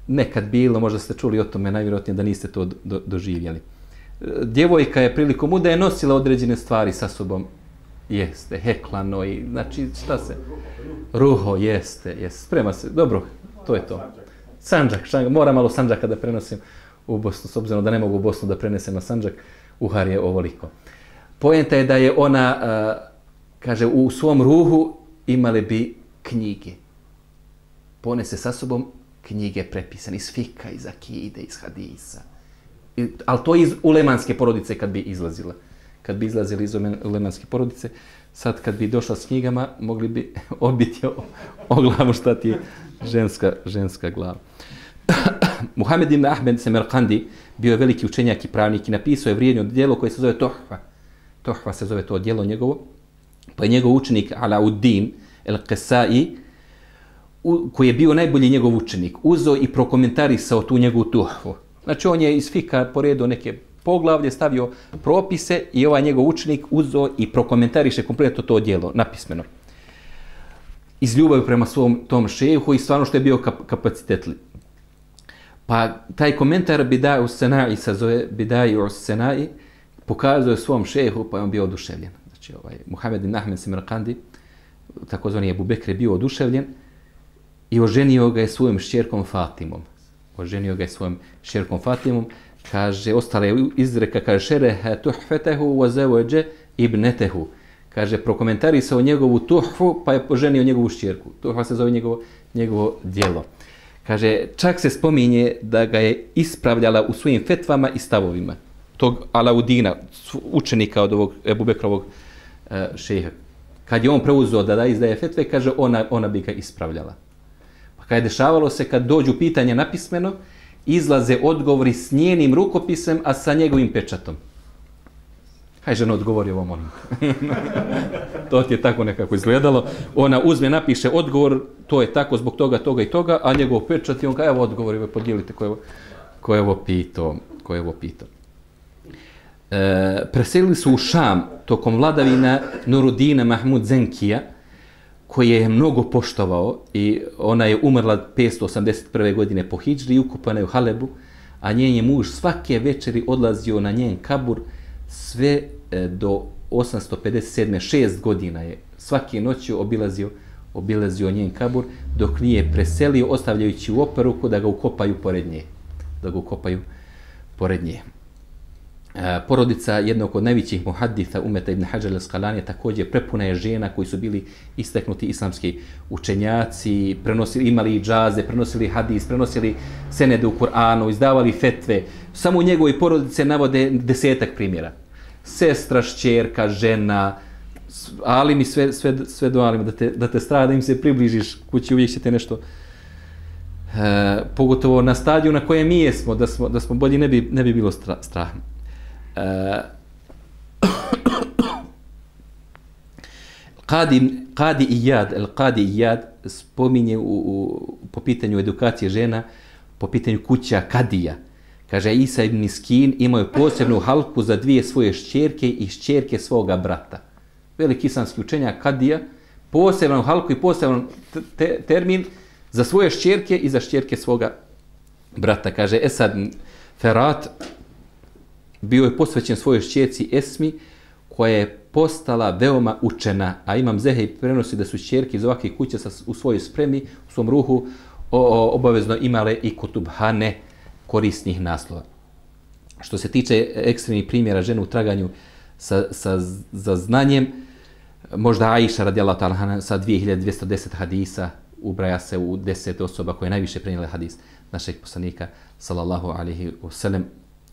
Nekad bilo, možda ste čuli o tome, najvjerojatnije da niste to do, doživjeli. Djevojka je prilikom udaje nosila određene stvari sa sobom. Jeste, heklano i, znači, šta se? Ruho, jeste, jeste. Sprema se, dobro, to je to. Sandžak, šang, mora malo sandžaka da prenosim u Bosnu, s obzirom da ne mogu u Bosnu da prenesem na sandžak, uhar je ovoliko. Poenta je da je ona, a, kaže, u svom ruhu imale bi knjige. Ponese sa sobom knjige prepisane iz fika, iz akide, iz hadisa. I, ali to iz ulemanske porodice kad bi izlazila. Kad bi izlazili iz ulemanske porodice, sad kad bi došla s knjigama, mogli bi odbiti o, o glavu šta ti je ženska, ženska glava. Muhammed ibn Ahmed Semerkandi bio je veliki učenjak i pravnik i napisao je vrijedno djelo koje se zove Tohfa. Tohfa se zove to djelo njegovo. Pa je njegov učenik Alauddin el-Qesai, koji je bio najbolji njegov učenik, uzeo i prokomentarisao tu njegovu Tohfu. Znači on je iz fika poredio neke poglavlje, stavio propise i ovaj njegov učenik uzeo i prokomentariše kompletno to djelo, napismeno. Iz ljubavi prema svom tom šehu i stvarno što je bio kap kapacitetli. Pa taj komentar Bidaj us-Senai se zove Bidaj us-Senai, pokazuje svom šehu, pa je on bio oduševljen. Znači ovaj Muhammed ibn Ahmed Semerkandi, takozvani Ebu Bekr, je bio oduševljen i oženio ga je svojom šćerkom Fatimom. Oženio ga je svojom šćerkom Fatimom. Kaže, ostale izreka, kaže, šerehe tuhfetehu wa zawađe ibnetehu. Kaže, prokomentarisao njegovu tuhfu, pa je poženio njegovu šćerku. Tuhfa se zove njegovo, njegovo djelo. Kaže, čak se spominje da ga je ispravljala u svojim fetvama i stavovima. Tog Alaudina, učenika od ovog Ebu Bekrovog uh, šeha. Kad je on preuzeo da da izdaje fetve, kaže, ona, ona bi ga ispravljala. Pa kad je dešavalo se, kad dođu pitanja napismeno, izlaze odgovori s njenim rukopisem, a sa njegovim pečatom. Haj, žena, odgovori ovom onom. To ti je tako nekako izgledalo. Ona uzme, napiše odgovor, to je tako zbog toga, toga i toga, a njegov pečat i on kaže, evo odgovori, podijelite ko je ovo, ko je ovo pitao. Ko je ovo pitao. E, preselili su u Šam tokom vladavina Nurudina Mahmud Zenkija, koji je mnogo poštovao i ona je umrla petsto osamdeset prve godine po hidžri i ukopana je u Halebu, a njen je muž svake večeri odlazio na njen kabur sve do osamsto pedeset sedme. šest godina je svake noći obilazio, obilazio njen kabur dok nije preselio, ostavljajući u operuku da ga ukopaju pored nje. Da ga ukopaju pored nje. Porodica jednog od najvećih muhaditha Umeta ibn Hadžar al-Asqalani također prepuna je žena koji su bili istaknuti islamski učenjaci, prenosili, imali džaze, prenosili hadis, prenosili senede u Kur'anu, izdavali fetve. Samo u njegovoj porodice navode desetak primjera. Sestra, šćerka, žena, alimi, sve, sve, sve do alima, da te, da te strada, da im se približiš kući, uvijek ćete nešto, e, pogotovo na stadiju na kojem mi jesmo, da smo, da smo bolji, ne bi, ne bi bilo stra, strah. Qadi, Qadi Iyad, el Qadi Iyad spominje u, u, po pitanju edukacije žena, po pitanju kuća Kadija. Kaže, Isa ibn Miskin imao je posebnu halku za dvije svoje šćerke i šćerke svoga brata. Veliki islamski učenjak Kadija, posebnu halku i poseban te, termin za svoje šćerke i za šćerke svoga brata. Kaže, Esad Ferat bio je posvećen svojoj šćerci Esmi, koja je postala veoma učena, a Imam Zehej prenosi da su šćerke iz ovakvih kuća sa, u svojoj spremi, u svom ruhu, o, o, obavezno imale i kutubhane korisnih naslova. Što se tiče ekstremnih primjera žene u traganju sa, sa, za znanjem, možda Aisha radijallahu ta'ala sa dvije hiljade dvjesto deset hadisa ubraja se u deset osoba koje najviše prenijele hadis našeg poslanika sallallahu alejhi ve sellem.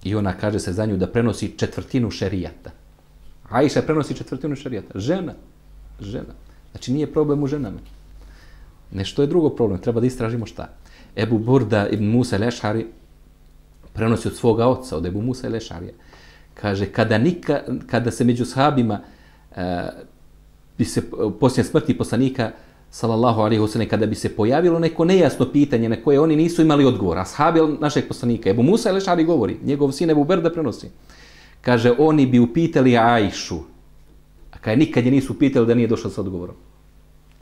I ona kaže se za nju da prenosi četvrtinu šerijata. Aisha prenosi četvrtinu šerijata. Žena. Žena. Znači nije problem u ženama. Nešto je drugo problem. Treba da istražimo šta. Ebu Burda ibn Musa el-Ešari prenosi od svoga oca, od Ebu Musa el-Ešarija. Kaže, kada, nika, kada se među sahabima uh, bi se poslije smrti poslanika sallallahu alejhi ve sellem, kada bi se pojavilo neko nejasno pitanje na koje oni nisu imali odgovor, ashabi našeg poslanika, Ebu Musa el-Ešari govori, njegov sin Ebu Berda prenosi, kaže, oni bi upitali Ajšu, a kada nikad je nisu pitali da nije došla sa odgovorom.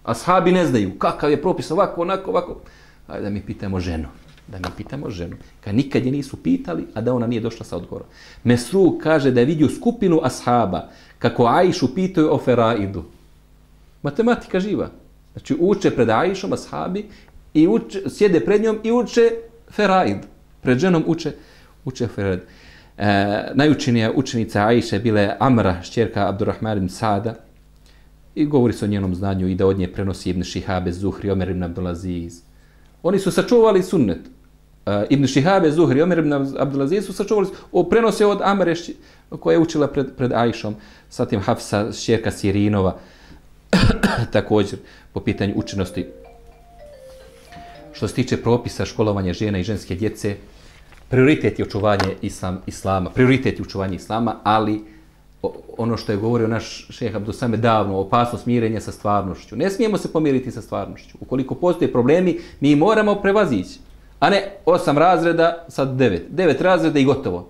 Ashabi ne znaju kakav je propis, ovako, onako, ovako. Ajde da mi pitamo ženu. Da mi pitamo ženu. Kad nikad je nisu pitali, a da ona nije došla sa odgovorom. Mesruk kaže da je vidio skupinu ashaba kako Ajšu pitaju o feraidu. Matematika živa. Znači uče pred Ajšom ashabi i uče, sjede pred njom i uče feraid. Pred ženom uče, uče feraid. E, najučenija učenica Ajše bila je Amra, šćerka Abdurrahman ibn Sada, i govori se o njenom znanju i da od nje prenosi Ibn Šihabe, Zuhri, Omer ibn Abdulaziz. Oni su sačuvali sunnet. Uh, Ibn Šihabe, Zuhri, Omer ibn Abdulaziz su sačuvali, o, prenose od Amre koja je učila pred, pred Ajšom, zatim Hafsa, šćerka Sirinova, također po pitanju učenosti. Što se tiče propisa školovanja žena i ženske djece, prioritet je očuvanje islam, islama, prioritet je očuvanje islama, ali ono što je govorio naš šejh Abdusame davno, opasnost mirenja sa stvarnošću. Ne smijemo se pomiriti sa stvarnošću. Ukoliko postoje problemi, mi moramo prevazići. A ne osam razreda, sad devet. Devet razreda i gotovo.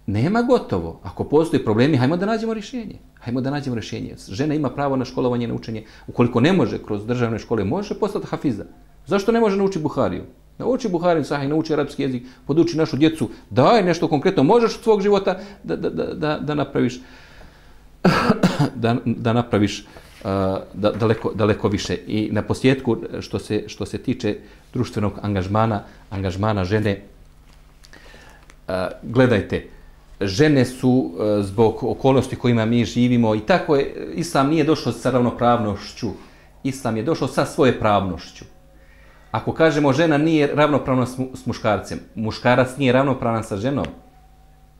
Nema gotovo. Ako postoje problemi, hajmo da nađemo rješenje. Hajmo da nađemo rješenje. Žena ima pravo na školovanje, na učenje. Ukoliko ne može kroz državne škole, može postati hafiza. Zašto ne može naučiti Buhariju? Nauči Buhariju sahih, nauči arapski jezik, poduči našu djecu, daj nešto konkretno, možeš od svog života da, da, da, da napraviš da, da napraviš uh, da, daleko, daleko više. I na posljedku, što se, što se tiče društvenog angažmana, angažmana žene, uh, gledajte, žene su uh, zbog okolnosti kojima mi živimo i tako je, Islam nije došao sa ravnopravnošću, Islam je došao sa svoje pravnošću. Ako kažemo žena nije ravnopravna s muškarcem, muškarac nije ravnopravan sa ženom,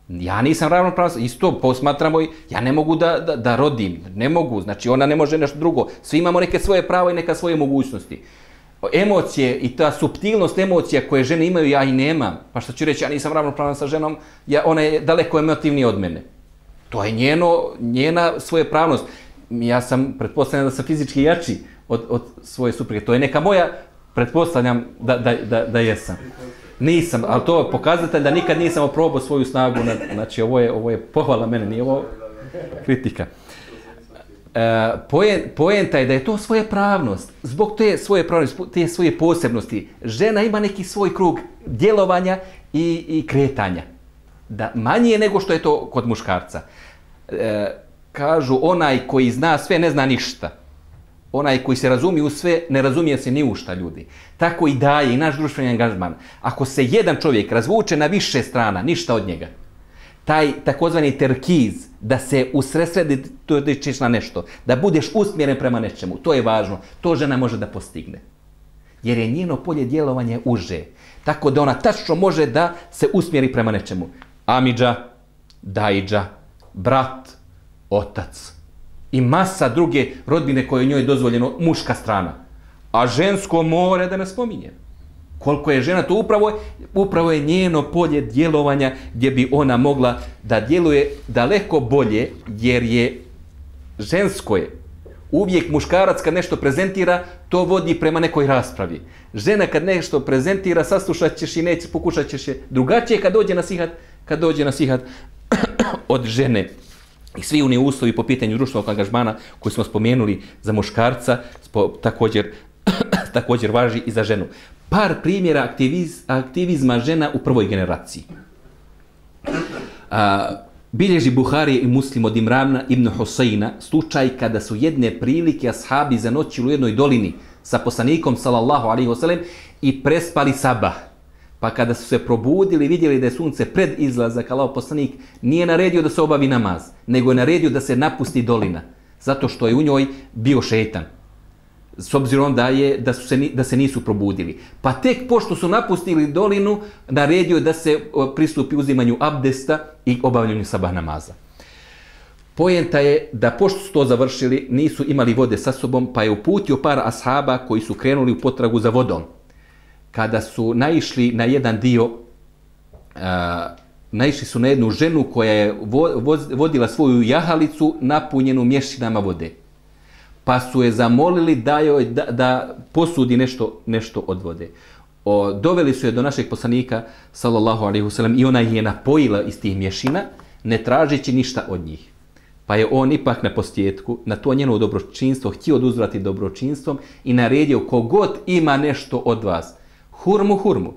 ja nisam ravnopravan, isto posmatramo i ja ne mogu da, da, da rodim, ne mogu, znači ona ne može nešto drugo, svi imamo neke svoje prava i neka svoje mogućnosti. Emocije i ta suptilnost emocija koje žene imaju, ja i nemam, pa što ću reći, ja nisam ravnopravan sa ženom, ja, ona je daleko emotivnija od mene. To je njeno, njena svoje pravnost. Ja sam, pretpostavljam da sam fizički jači od, od svoje supruge, to je neka moja, pretpostavljam da, da, da, da jesam. Nisam, ali to je pokazatelj da nikad nisam oprobao svoju snagu. Znači, ovo je, ovo je pohvala mene, nije ovo kritika. E, pojen, poenta je da je to svoja pravnost. Zbog te svoje pravnosti, te svoje posebnosti, žena ima neki svoj krug djelovanja i, i kretanja. Da manje nego što je to kod muškarca. E, kažu, onaj koji zna sve, ne zna ništa. Onaj koji se razumije u sve, ne razumije se ni u šta, ljudi. Tako i daje i naš društveni angažman. Ako se jedan čovjek razvuče na više strana, ništa od njega. Taj takozvani terkiz, da se usredsrediš na nešto, da budeš usmjeren prema nečemu, to je važno. To žena može da postigne. Jer je njeno polje djelovanja uže. Tako da ona tačno može da se usmjeri prema nečemu. Amidža, dajđa, brat, otac. I masa druge rodbine koje je njoj dozvoljeno, muška strana. A žensko more da ne spominjem. Koliko je žena, to upravo, upravo je njeno polje djelovanja gdje bi ona mogla da djeluje daleko bolje, jer je žensko je. Uvijek muškarac kad nešto prezentira, to vodi prema nekoj raspravi. Žena kad nešto prezentira, saslušat ćeš i neće, pokušat ćeš je drugačije kad dođe nasihat, kad dođe nasihat od žene. I svi oni uslovi po pitanju društvenog angažmana koji smo spomenuli za muškarca, spo, također, također važi i za ženu. Par primjera aktiviz, aktivizma žena u prvoj generaciji. A, bilježi Buhari i Muslim od Imrana ibn Husajna slučaj kada su jedne prilike ashabi zanoćili u jednoj dolini sa poslanikom sallallahu alejhi ve sellem i prespali sabah. Pa kada su se probudili, vidjeli da je sunce pred izlazak, Allahov poslanik nije naredio da se obavi namaz, nego je naredio da se napusti dolina, zato što je u njoj bio šejtan. S obzirom da, je, da, su se, da se nisu probudili. Pa tek pošto su napustili dolinu, naredio da se pristupi uzimanju abdesta i obavljanju sabah namaza. Poenta je da pošto su to završili, nisu imali vode sa sobom, pa je uputio par ashaba koji su krenuli u potragu za vodom. Kada su naišli na jedan dio, uh, naišli su na jednu ženu koja je vo, voz, vodila svoju jahalicu napunjenu mješinama vode. pa su je zamolili da, joj, da, da posudi nešto, nešto od vode. O, doveli su je do našeg poslanika, sallallahu alejhi ve sellem, i ona ih je napojila iz tih mješina, ne tražeći ništa od njih. Pa je on ipak na posljedku, na to njeno dobročinstvo, htio oduzvrati dobročinstvom i naredio kogod ima nešto od vas, hurmu, hurmu,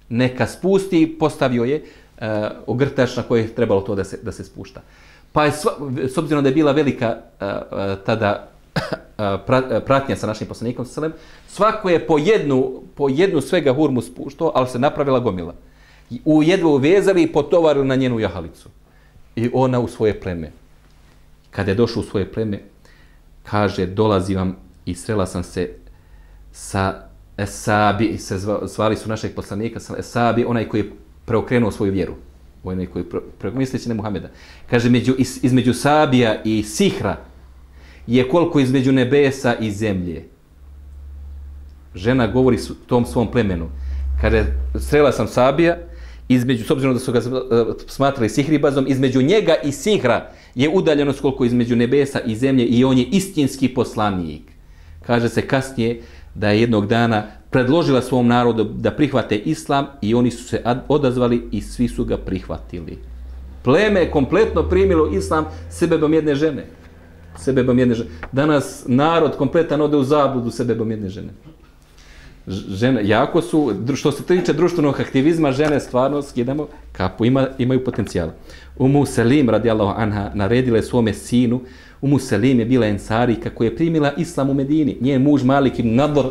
neka spusti, postavio je uh, ogrtač na koje je trebalo to da se, da se spušta. Pa je, sva, s obzirom da je bila velika uh, uh, tada uh, pratnja sa našim poslanikom, svako je po jednu, po jednu svega hurmu spuštao, ali se napravila gomila. U jedvu uvezali i potovarili na njenu jahalicu. I ona u svoje pleme. Kada je došao u svoje pleme, kaže, dolazi vam i srela sam se sa Esabi, se zvali su našeg poslanika, Esabi, onaj koji je preokrenuo svoju vjeru. Onaj koji je preokrenuo, misleći na Muhameda. Kaže, među, iz, između Sabija i Sihra je koliko između nebesa i zemlje. Žena govori su, tom svom plemenu. Kaže, srela sam Sabija, između, s obzirom da su ga smatrali sihribazom, između njega i Sihra je udaljenost koliko između nebesa i zemlje i on je istinski poslanik. Kaže se kasnije da je jednog dana predložila svom narodu da prihvate islam i oni su se odazvali i svi su ga prihvatili. Pleme je kompletno primilo islam sebebom jedne žene. Sebebom jedne žene. Danas narod kompletan ode u zabludu sebebom jedne žene. Žene, jako su, što se tiče društvenog aktivizma, žene stvarno skidamo kapu, ima, imaju potencijala. Umu Selim, radijallahu anha, naredila je svome sinu. Umu Selim je bila ensarika koja je primila islam u Medini. Njen muž Malik ibn Nadr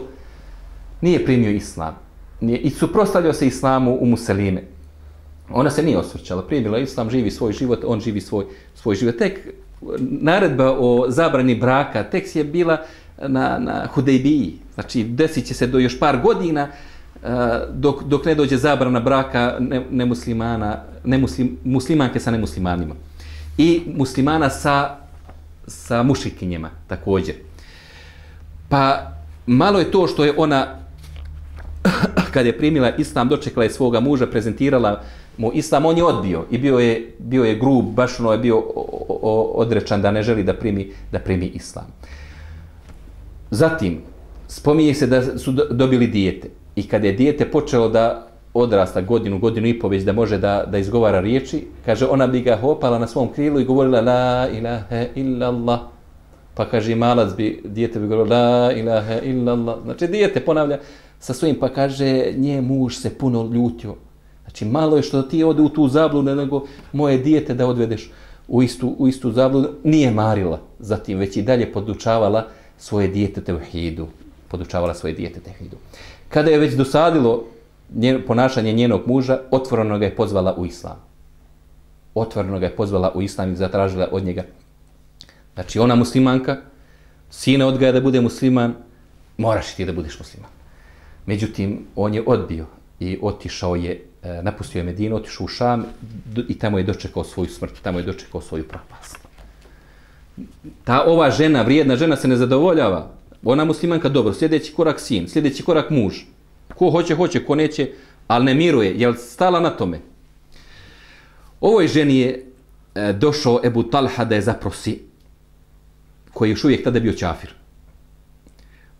nije primio islam. Nije, i suprotstavljao se islamu Umu Selime. Ona se nije osvrćala, primila islam, živi svoj život, on živi svoj, svoj život. Tek naredba o zabrani braka, tek je bila na, na Hudejbiji. Znači, desit će se do još par godina uh, dok, dok ne dođe zabrana braka nemuslimana, ne muslim, muslimanke sa nemuslimanima. I muslimana sa, sa mušikinjima također. Pa malo je to što je ona, kad je primila islam, dočekala je svoga muža, prezentirala mu islam, on je odbio i bio je, bio je grub, baš ono je bio o, o, odrečan da ne želi da primi, da primi islam. Zatim, spominje se da su dobili dijete i kada je dijete počelo da odrasta godinu, godinu i po već da može da, da izgovara riječi, kaže, ona bi ga hopala na svom krilu i govorila la ilaha illallah. Pa kaže, malac bi, dijete bi govorilo la ilaha illallah. Znači, dijete ponavlja sa svojim, pa kaže, nje muž se puno ljutio. Znači, malo je što ti ode u tu zabludu, nego moje dijete da odvedeš u istu, u istu zabludu. Nije marila, zatim već i dalje podučavala svoje dijete tevhidu. Podučavala svoje dijete tevhidu. Kada je već dosadilo njen, ponašanje njenog muža, otvoreno ga je pozvala u islam. Otvoreno ga je pozvala u islam i zatražila od njega. Znači, ona muslimanka, sina odgaja da bude musliman, moraš ti da budeš musliman. Međutim, on je odbio i otišao je, napustio je Medinu, otišao u Šam i tamo je dočekao svoju smrt, tamo je dočekao svoju propast. Ta ova žena, vrijedna žena, se ne zadovoljava. Ona muslimanka, dobro, sljedeći korak sin, sljedeći korak muž. Ko hoće, hoće, ko neće, ali ne miruje. Je li stala na tome? Ovoj ženi je e, došao Ebu Talha da je zaprosi, koji još uvijek tada bio čafir.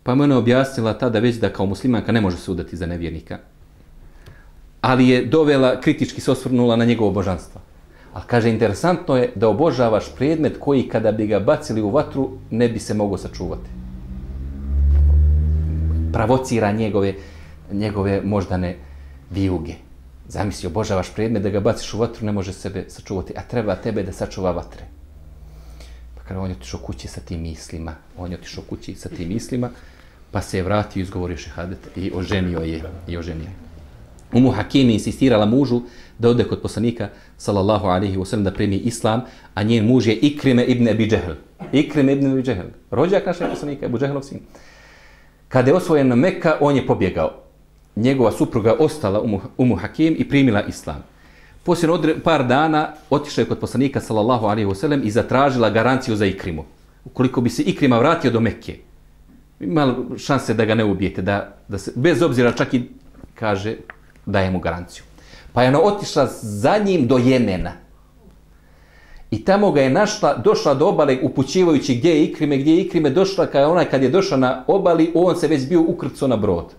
Pa mu ona objasnila tada već da kao muslimanka ne može se udati za nevjernika. Ali je dovela, kritički se osvrnula na njegovo božanstvo. Ali kaže, interesantno je da obožavaš predmet koji kada bi ga bacili u vatru ne bi se mogao sačuvati. Provocira njegove, njegove moždane vijuge. Zamisli, obožavaš predmet da ga baciš u vatru, ne može sebe sačuvati, a treba tebe da sačuva vatre. Pa kada on je otišao kući sa tim mislima, on je otišao kući sa tim mislima, pa se je vratio i izgovorio šehadet i oženio je. I oženio je. Umu Hakim je insistirala mužu da ode kod poslanika, sallallahu alaihi wa sallam, da primi islam, a njen muž je Ikrime ibn Abi Džehl. Ikrime ibn Abi Džehl, rođak našeg poslanika, Abu Džehlov sin. Kada je osvojen na Mekka, on je pobjegao. Njegova supruga ostala Umu, Umu Hakim i primila islam. Poslije odre, par dana otišla je kod poslanika, sallallahu alaihi wa sallam, i zatražila garanciju za Ikrimu. Ukoliko bi se Ikrima vratio do Mekke, imala šanse da ga ne ubijete, da, da se, bez obzira čak i kaže, daje mu garanciju. Pa je ona otišla za njim do Jemena. I tamo ga je našla, došla do obale upućivajući gdje je Ikrime, gdje je Ikrime došla, kada onaj kad je došla na obali, on se već bio ukrcao na brod.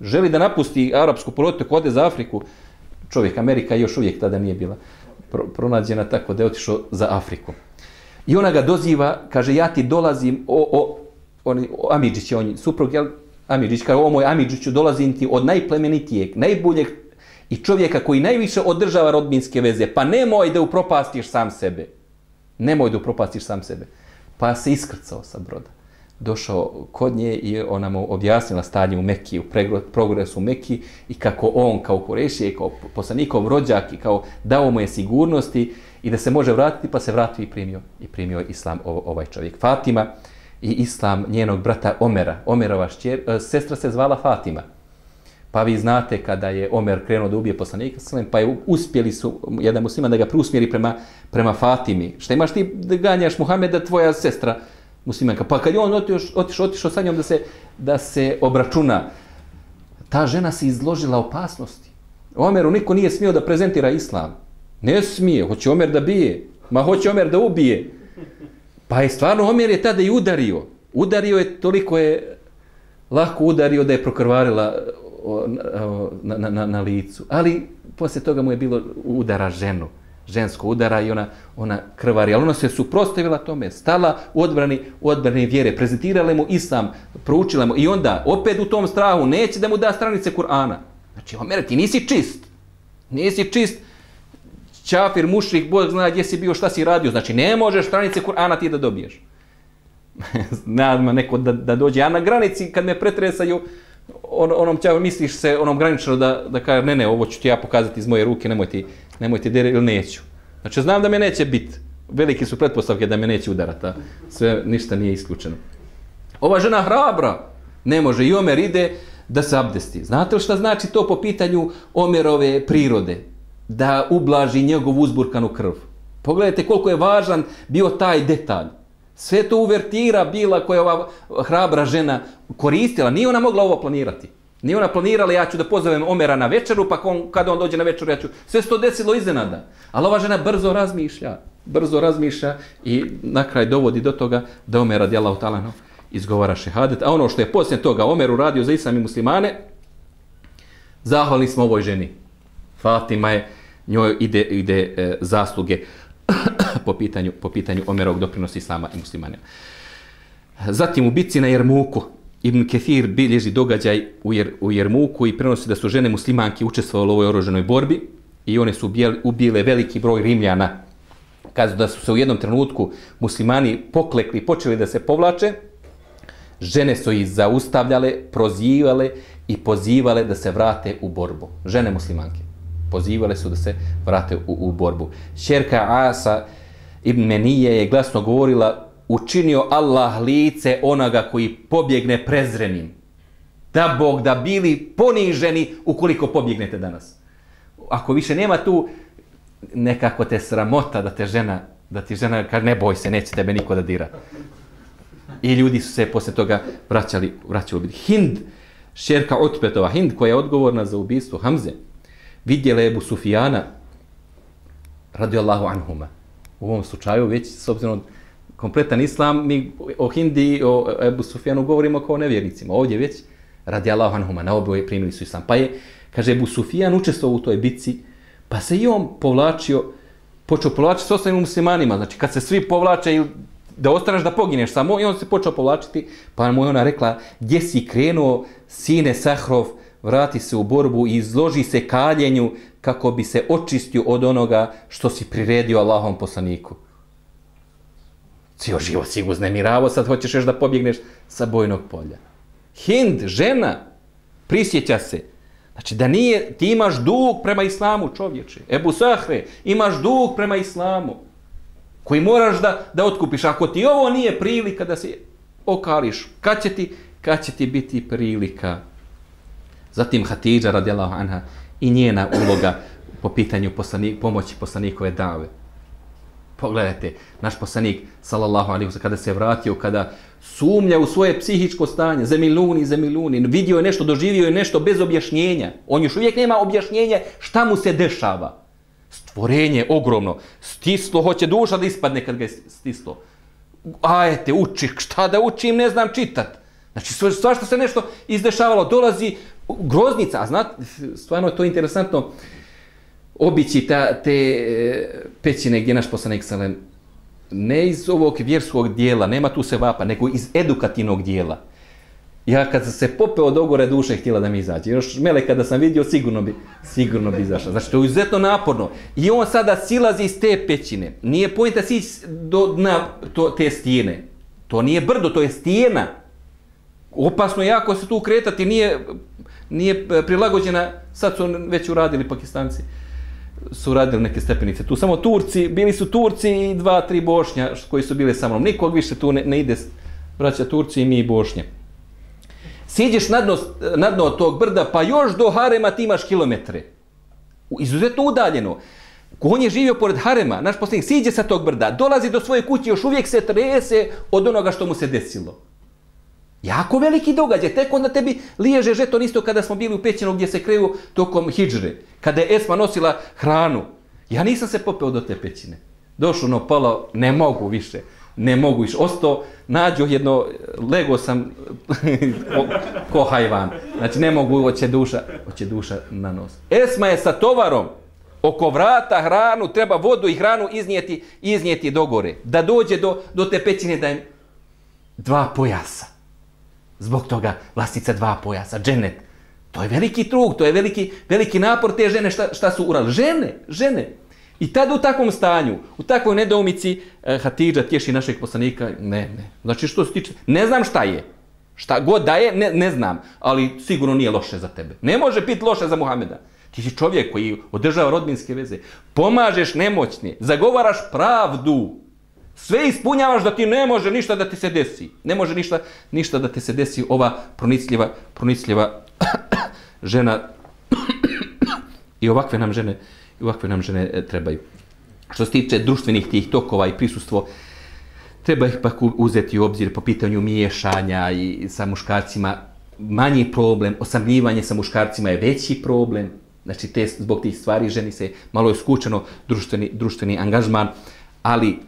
Želi da napusti arapsku poluotok, ode za Afriku. Čovjek, Amerika još uvijek tada nije bila pro, pronađena, tako da je otišao za Afriku. I ona ga doziva, kaže, ja ti dolazim, o, o, on, o Amidžić je on, suprug, jel, Amidžić, kaže, o moj Amidžiću, dolazim ti od najplemenitijeg, najboljeg i čovjeka koji najviše održava rodbinske veze, pa nemoj da upropastiš sam sebe. Nemoj da upropastiš sam sebe. Pa se iskrcao sa broda. Došao kod nje i ona mu objasnila stanje u Mekiji, u progresu u Mekiji i kako on kao Kurešije, kao poslanikov rođak i kao dao mu je sigurnosti i da se može vratiti, pa se vratio i primio, i primio islam ovaj čovjek. Fatima i islam njenog brata Omera. Omerova šćer, sestra se zvala Fatima. Pa vi znate kada je Omer krenuo da ubije poslanika, pa je uspjeli su jedan musliman da ga preusmjeri prema, prema Fatimi. Šta imaš ti da ganjaš Muhameda, tvoja sestra muslimanka? Pa kad je on otišao, otišao, otišao sa njom da se, da se obračuna, ta žena se izložila opasnosti. Omeru niko nije smio da prezentira islam. Ne smije, hoće Omer da bije, ma hoće Omer da ubije. Pa je stvarno Omer je tada i udario. Udario je, toliko je lako udario da je prokrvarila na, na, na, na licu. Ali poslije toga mu je bilo udara ženu. Žensko udara i ona, ona krvari. Ali ona se suprotstavila tome, stala u odbrani, u odbrani vjere, prezentirala mu islam, proučila mu i onda opet u tom strahu neće da mu da stranice Kur'ana. Znači, Omer, ti nisi čist. Nisi čist. Čafir, mušrik, Bog zna gdje si bio, šta si radio. Znači, ne možeš stranice Kur'ana ti da dobiješ. Nadam neko da, da dođe. A na granici, kad me pretresaju, on, onom ćao, misliš se onom granično da, da kaže, ne, ne, ovo ću ti ja pokazati iz moje ruke, nemoj ti, nemoj ti dere, ili neću. Znači, znam da me neće biti. Velike su pretpostavke da me neće udarati. A sve, ništa nije isključeno. Ova žena hrabra. Ne može. I Omer ide da se abdesti. Znate li šta znači to po pitanju Omerove prirode? Da ublaži njegovu uzburkanu krv. Pogledajte koliko je važan bio taj detalj. Sve to uvertira bila koja ova hrabra žena koristila. Nije ona mogla ovo planirati. Nije ona planirala, ja ću da pozovem Omera na večeru, pa on, kada on dođe na večeru, ja ću... Sve se to desilo iznenada. Ali ova žena brzo razmišlja. Brzo razmišlja i na kraj dovodi do toga da Omer radijallahu ta'ala anhu izgovara šehadet. A ono što je poslije toga Omer uradio za islam i muslimane, zahvalni smo ovoj ženi. Fatima je, njoj ide, ide e, zasluge po pitanju, po pitanju Omerovog doprinosa islama i muslimana. Zatim u bitci na Jermuku, Ibn Kethir bilježi događaj u, Jer, u Jermuku i prenosi da su žene muslimanke učestvovale u ovoj oružanoj borbi i one su ubijale, ubile veliki broj Rimljana. Kažu da su se u jednom trenutku muslimani poklekli, počeli da se povlače, žene su ih zaustavljale, prozivale i pozivale da se vrate u borbu. Žene muslimanke. Pozivale su da se vrate u, u borbu. Ćerka Asa ibn Menije je glasno govorila: učinio Allah lice onoga koji pobjegne prezrenim. Da Bog da bili poniženi ukoliko pobjegnete danas. Ako više nema tu, nekako te sramota da te žena, da ti žena kaže ne boj se, neće tebe niko da dira. I ljudi su se posle toga vraćali, vraćali. Hind, ćerka Utbetova, Hind koja je odgovorna za ubistvo Hamze, vidjela je Ebu Sufijana radijallahu anhuma. U ovom slučaju već s obzirom kompletan islam, mi o Hindi i o Ebu Sufijanu govorimo kao nevjernicima. Ovdje već radijallahu anhuma, na oboje primili su islam. Pa je, kaže, Ebu Sufijan učestvovao u toj bitci, pa se i on povlačio, počeo povlačiti s ostalim muslimanima. Znači, kad se svi povlače da ostaneš da pogineš samo, i on se počeo povlačiti, pa mu je ona rekla: gdje si krenuo, sine Sahrov, vrati se u borbu i izloži se kaljenju kako bi se očistio od onoga što si priredio Allahom poslaniku. Cijel život si uznemiravo, sad hoćeš još da pobjegneš sa bojnog polja. Hind, žena, prisjeća se. Znači da nije, ti imaš dug prema islamu, čovječe. Ebu Sahre, imaš dug prema islamu koji moraš da, da otkupiš. Ako ti ovo nije prilika da se okališ, kad će ti, kad će ti biti prilika? Zatim Hatidža radijallahu anha i njena uloga po pitanju poslanik, pomoći poslanikove dave. Pogledajte, naš poslanik sallallahu alejhi ve sellem kada se vratio, kada sumnja u svoje psihičko stanje, zemiluni, zemiluni, vidio je nešto, doživio je nešto bez objašnjenja. On još uvijek nema objašnjenja šta mu se dešava. Stvorenje ogromno. Stislo, hoće duša da ispadne kad ga je stislo. Ajte, uči, šta da učim, ne znam čitat. Znači, svašta se nešto izdešavalo. Dolazi groznica, a znate, stvarno je to interesantno obići ta, te pećine gdje naš poslanik salem ne iz ovog vjerskog dijela, nema tu se vapa, nego iz edukativnog dijela. Ja kad sam se popeo od ogore duše htjela da mi izađe. Još mele kada sam vidio sigurno bi, sigurno bi izašla. Znači to je izuzetno naporno. I on sada silazi iz te pećine. Nije pojenta sići do dna to, te stijene. To nije brdo, to je stijena. Opasno jako se tu kretati, nije, nije prilagođena. Sad su već uradili Pakistanci. Su radili neke stepenice. Tu samo Turci, bili su Turci i dva, tri Bošnja koji su bili sa mnom. Nikog više tu ne, ne ide, braća Turci i mi i Bošnje. Siđeš na dno, na dno tog brda, pa još do harema ti imaš kilometre. Izuzetno udaljeno. On je živio pored harema, naš poslanik siđe sa tog brda, dolazi do svoje kuće, još uvijek se trese od onoga što mu se desilo. Jako veliki događaj, tek onda tebi liježe žeton isto kada smo bili u pećinu gdje se kreju tokom hidžre, kada je Esma nosila hranu. Ja nisam se popeo do te pećine. Došlo ono palo, ne mogu više, ne mogu više. Ostao, nađo jedno, lego sam ko, ko hajvan. Znači ne mogu, hoće duša, hoće duša na nos. Esma je sa tovarom oko vrata hranu, treba vodu i hranu iznijeti, iznijeti do gore. Da dođe do, do te pećine da im dva pojasa. Zbog toga vlasnica dva pojasa, dženet. To je veliki trug, to je veliki, veliki napor te žene šta, šta su uradili. Žene, žene. I tada u takvom stanju, u takvoj nedoumici, eh, Hatidža tješi našeg poslanika, ne, ne. Znači što se tiče, ne znam šta je. Šta god da je, ne, ne znam. Ali sigurno nije loše za tebe. Ne može biti loše za Muhameda. Ti si čovjek koji održava rodbinske veze. Pomažeš nemoćne, zagovaraš pravdu. Sve ispunjavaš da ti ne može ništa da ti se desi. Ne može ništa, ništa da ti se desi ova pronicljiva, pronicljiva žena. I ovakve nam žene, i ovakve nam žene trebaju. Što se tiče društvenih tih tokova i prisustvo, treba ih pak uzeti u obzir po pitanju miješanja i sa muškarcima. Manji problem, osamljivanje sa muškarcima je veći problem. Znači, te, zbog tih stvari ženi se malo je skučeno društveni, društveni angažman, ali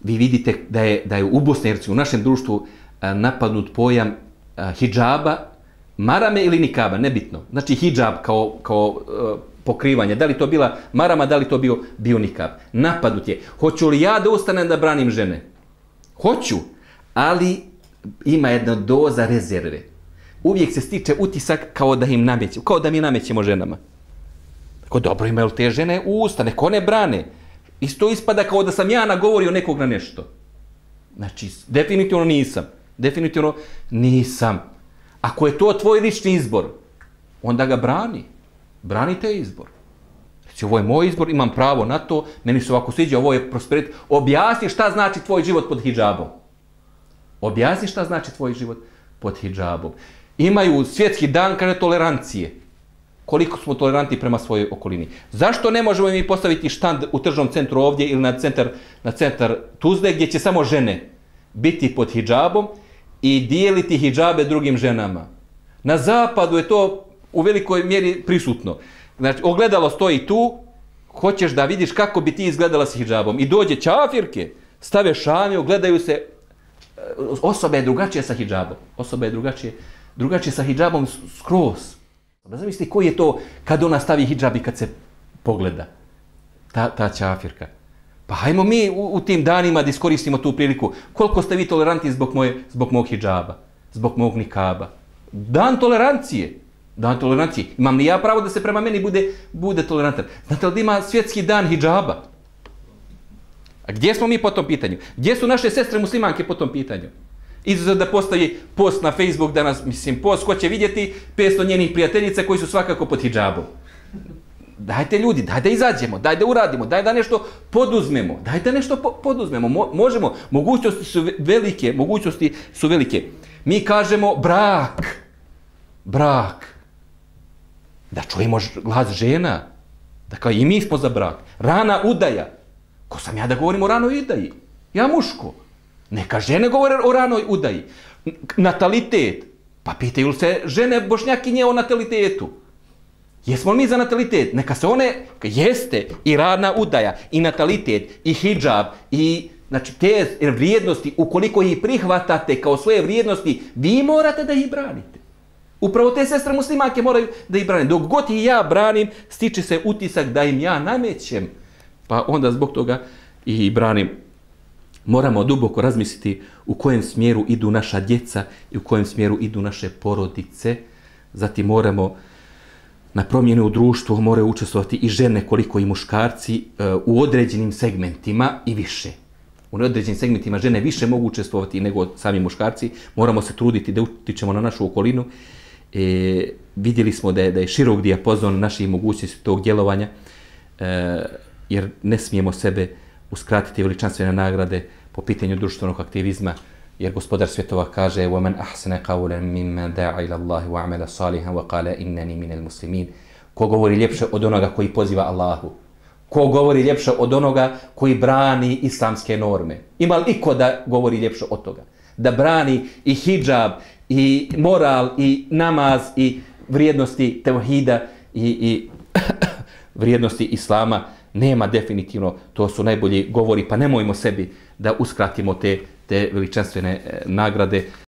vi vidite da je, da je u Bosni i Hercegovini, u našem društvu, a, napadnut pojam a, hidžaba, marame ili nikaba, nebitno. Znači, hidžab kao, kao a, pokrivanje, da li to bila marama, da li to bio, bio nikab. Napadnut je. Hoću li ja da ustanem da branim žene? Hoću, ali ima jedna doza rezerve. Uvijek se stiče utisak kao da im namećemo, kao da mi namećemo ženama. Tako dobro, imaju te žene u usta, neko ne brane. Isto ispada kao da sam ja nagovorio nekog na nešto. Znači, definitivno nisam. Definitivno nisam. Ako je to tvoj lični izbor, onda ga brani. Brani te izbor. Znači, ovo je moj izbor, imam pravo na to, meni se ovako sviđa, ovo je prosperitet. Objasni šta znači tvoj život pod hidžabom. Objasni šta znači tvoj život pod hidžabom. Imaju svjetski dan, kaže, tolerancije. Koliko smo toleranti prema svojoj okolini. Zašto ne možemo mi postaviti štand u tržnom centru ovdje ili na centar, na centar Tuzle gdje će samo žene biti pod hidžabom i dijeliti hidžabe drugim ženama? Na zapadu je to u velikoj mjeri prisutno. Znači, ogledalo stoji tu, hoćeš da vidiš kako bi ti izgledala s hidžabom. I dođe čafirke, stave šamiju, gledaju se, osoba je drugačija sa hidžabom. Osoba je drugačija, drugačija sa hidžabom skroz. Da zamisli koji je to kad ona stavi hidžab i kad se pogleda. Ta, ta čafirka. Pa hajmo mi u, u tim danima da iskoristimo tu priliku. Koliko ste vi toleranti zbog, moje, zbog mog hidžaba? Zbog mog nikaba? Dan tolerancije. Dan tolerancije. Imam li ja pravo da se prema meni bude, bude tolerantan? Znate li da ima svjetski dan hidžaba? A gdje smo mi po tom pitanju? Gdje su naše sestre muslimanke po tom pitanju? Izuzev da postavi post na Facebook danas, mislim, post ko će vidjeti petsto njenih prijateljica koji su svakako pod hidžabom. Dajte ljudi, daj da izađemo, daj da uradimo, daj da nešto poduzmemo, daj da nešto po poduzmemo, Mo možemo, mogućnosti su velike, mogućnosti su velike. Mi kažemo brak, brak, da čujemo glas žena, da kao i mi smo za brak, rana udaja, ko sam ja da govorim o ranoj udaji, ja muško. Neka žene govore o ranoj udaji. Natalitet. Pa pitaju se žene bošnjakinje o natalitetu. Jesmo li mi za natalitet? Neka se one, jeste i radna udaja, i natalitet, i hidžab, i znači te vrijednosti, ukoliko ih prihvatate kao svoje vrijednosti, vi morate da ih branite. Upravo te sestre muslimanke moraju da ih brane. Dok god i ja branim, stiče se utisak da im ja namećem. Pa onda zbog toga i branim. Moramo duboko razmisliti u kojem smjeru idu naša djeca i u kojem smjeru idu naše porodice. Zatim moramo na promjene u društvu moraju učestvovati i žene koliko i muškarci u određenim segmentima i više. U određenim segmentima žene više mogu učestvovati nego sami muškarci. Moramo se truditi da utičemo na našu okolinu. E, vidjeli smo da je, da je širok dijapazon naših mogućnosti tog djelovanja, e, jer ne smijemo sebe uskratiti veličanstvene nagrade po pitanju društvenog aktivizma, jer gospodar svjetova kaže وَمَنْ أَحْسَنَ قَوْلًا مِمَّنْ دَعَ إِلَى اللَّهِ وَعَمَلَ صَالِحًا وَقَالَ إِنَّنِي مِنَ الْمُسْلِمِينَ. Ko govori ljepše od onoga koji poziva Allahu? Ko govori ljepše od onoga koji brani islamske norme? Ima li iko da govori ljepše od toga? Da brani i hidžab, i moral, i namaz, i vrijednosti tevhida, i, i vrijednosti islama? Nema definitivno, to su najbolji govori, pa nemojmo sebi da uskratimo te, te veličanstvene nagrade,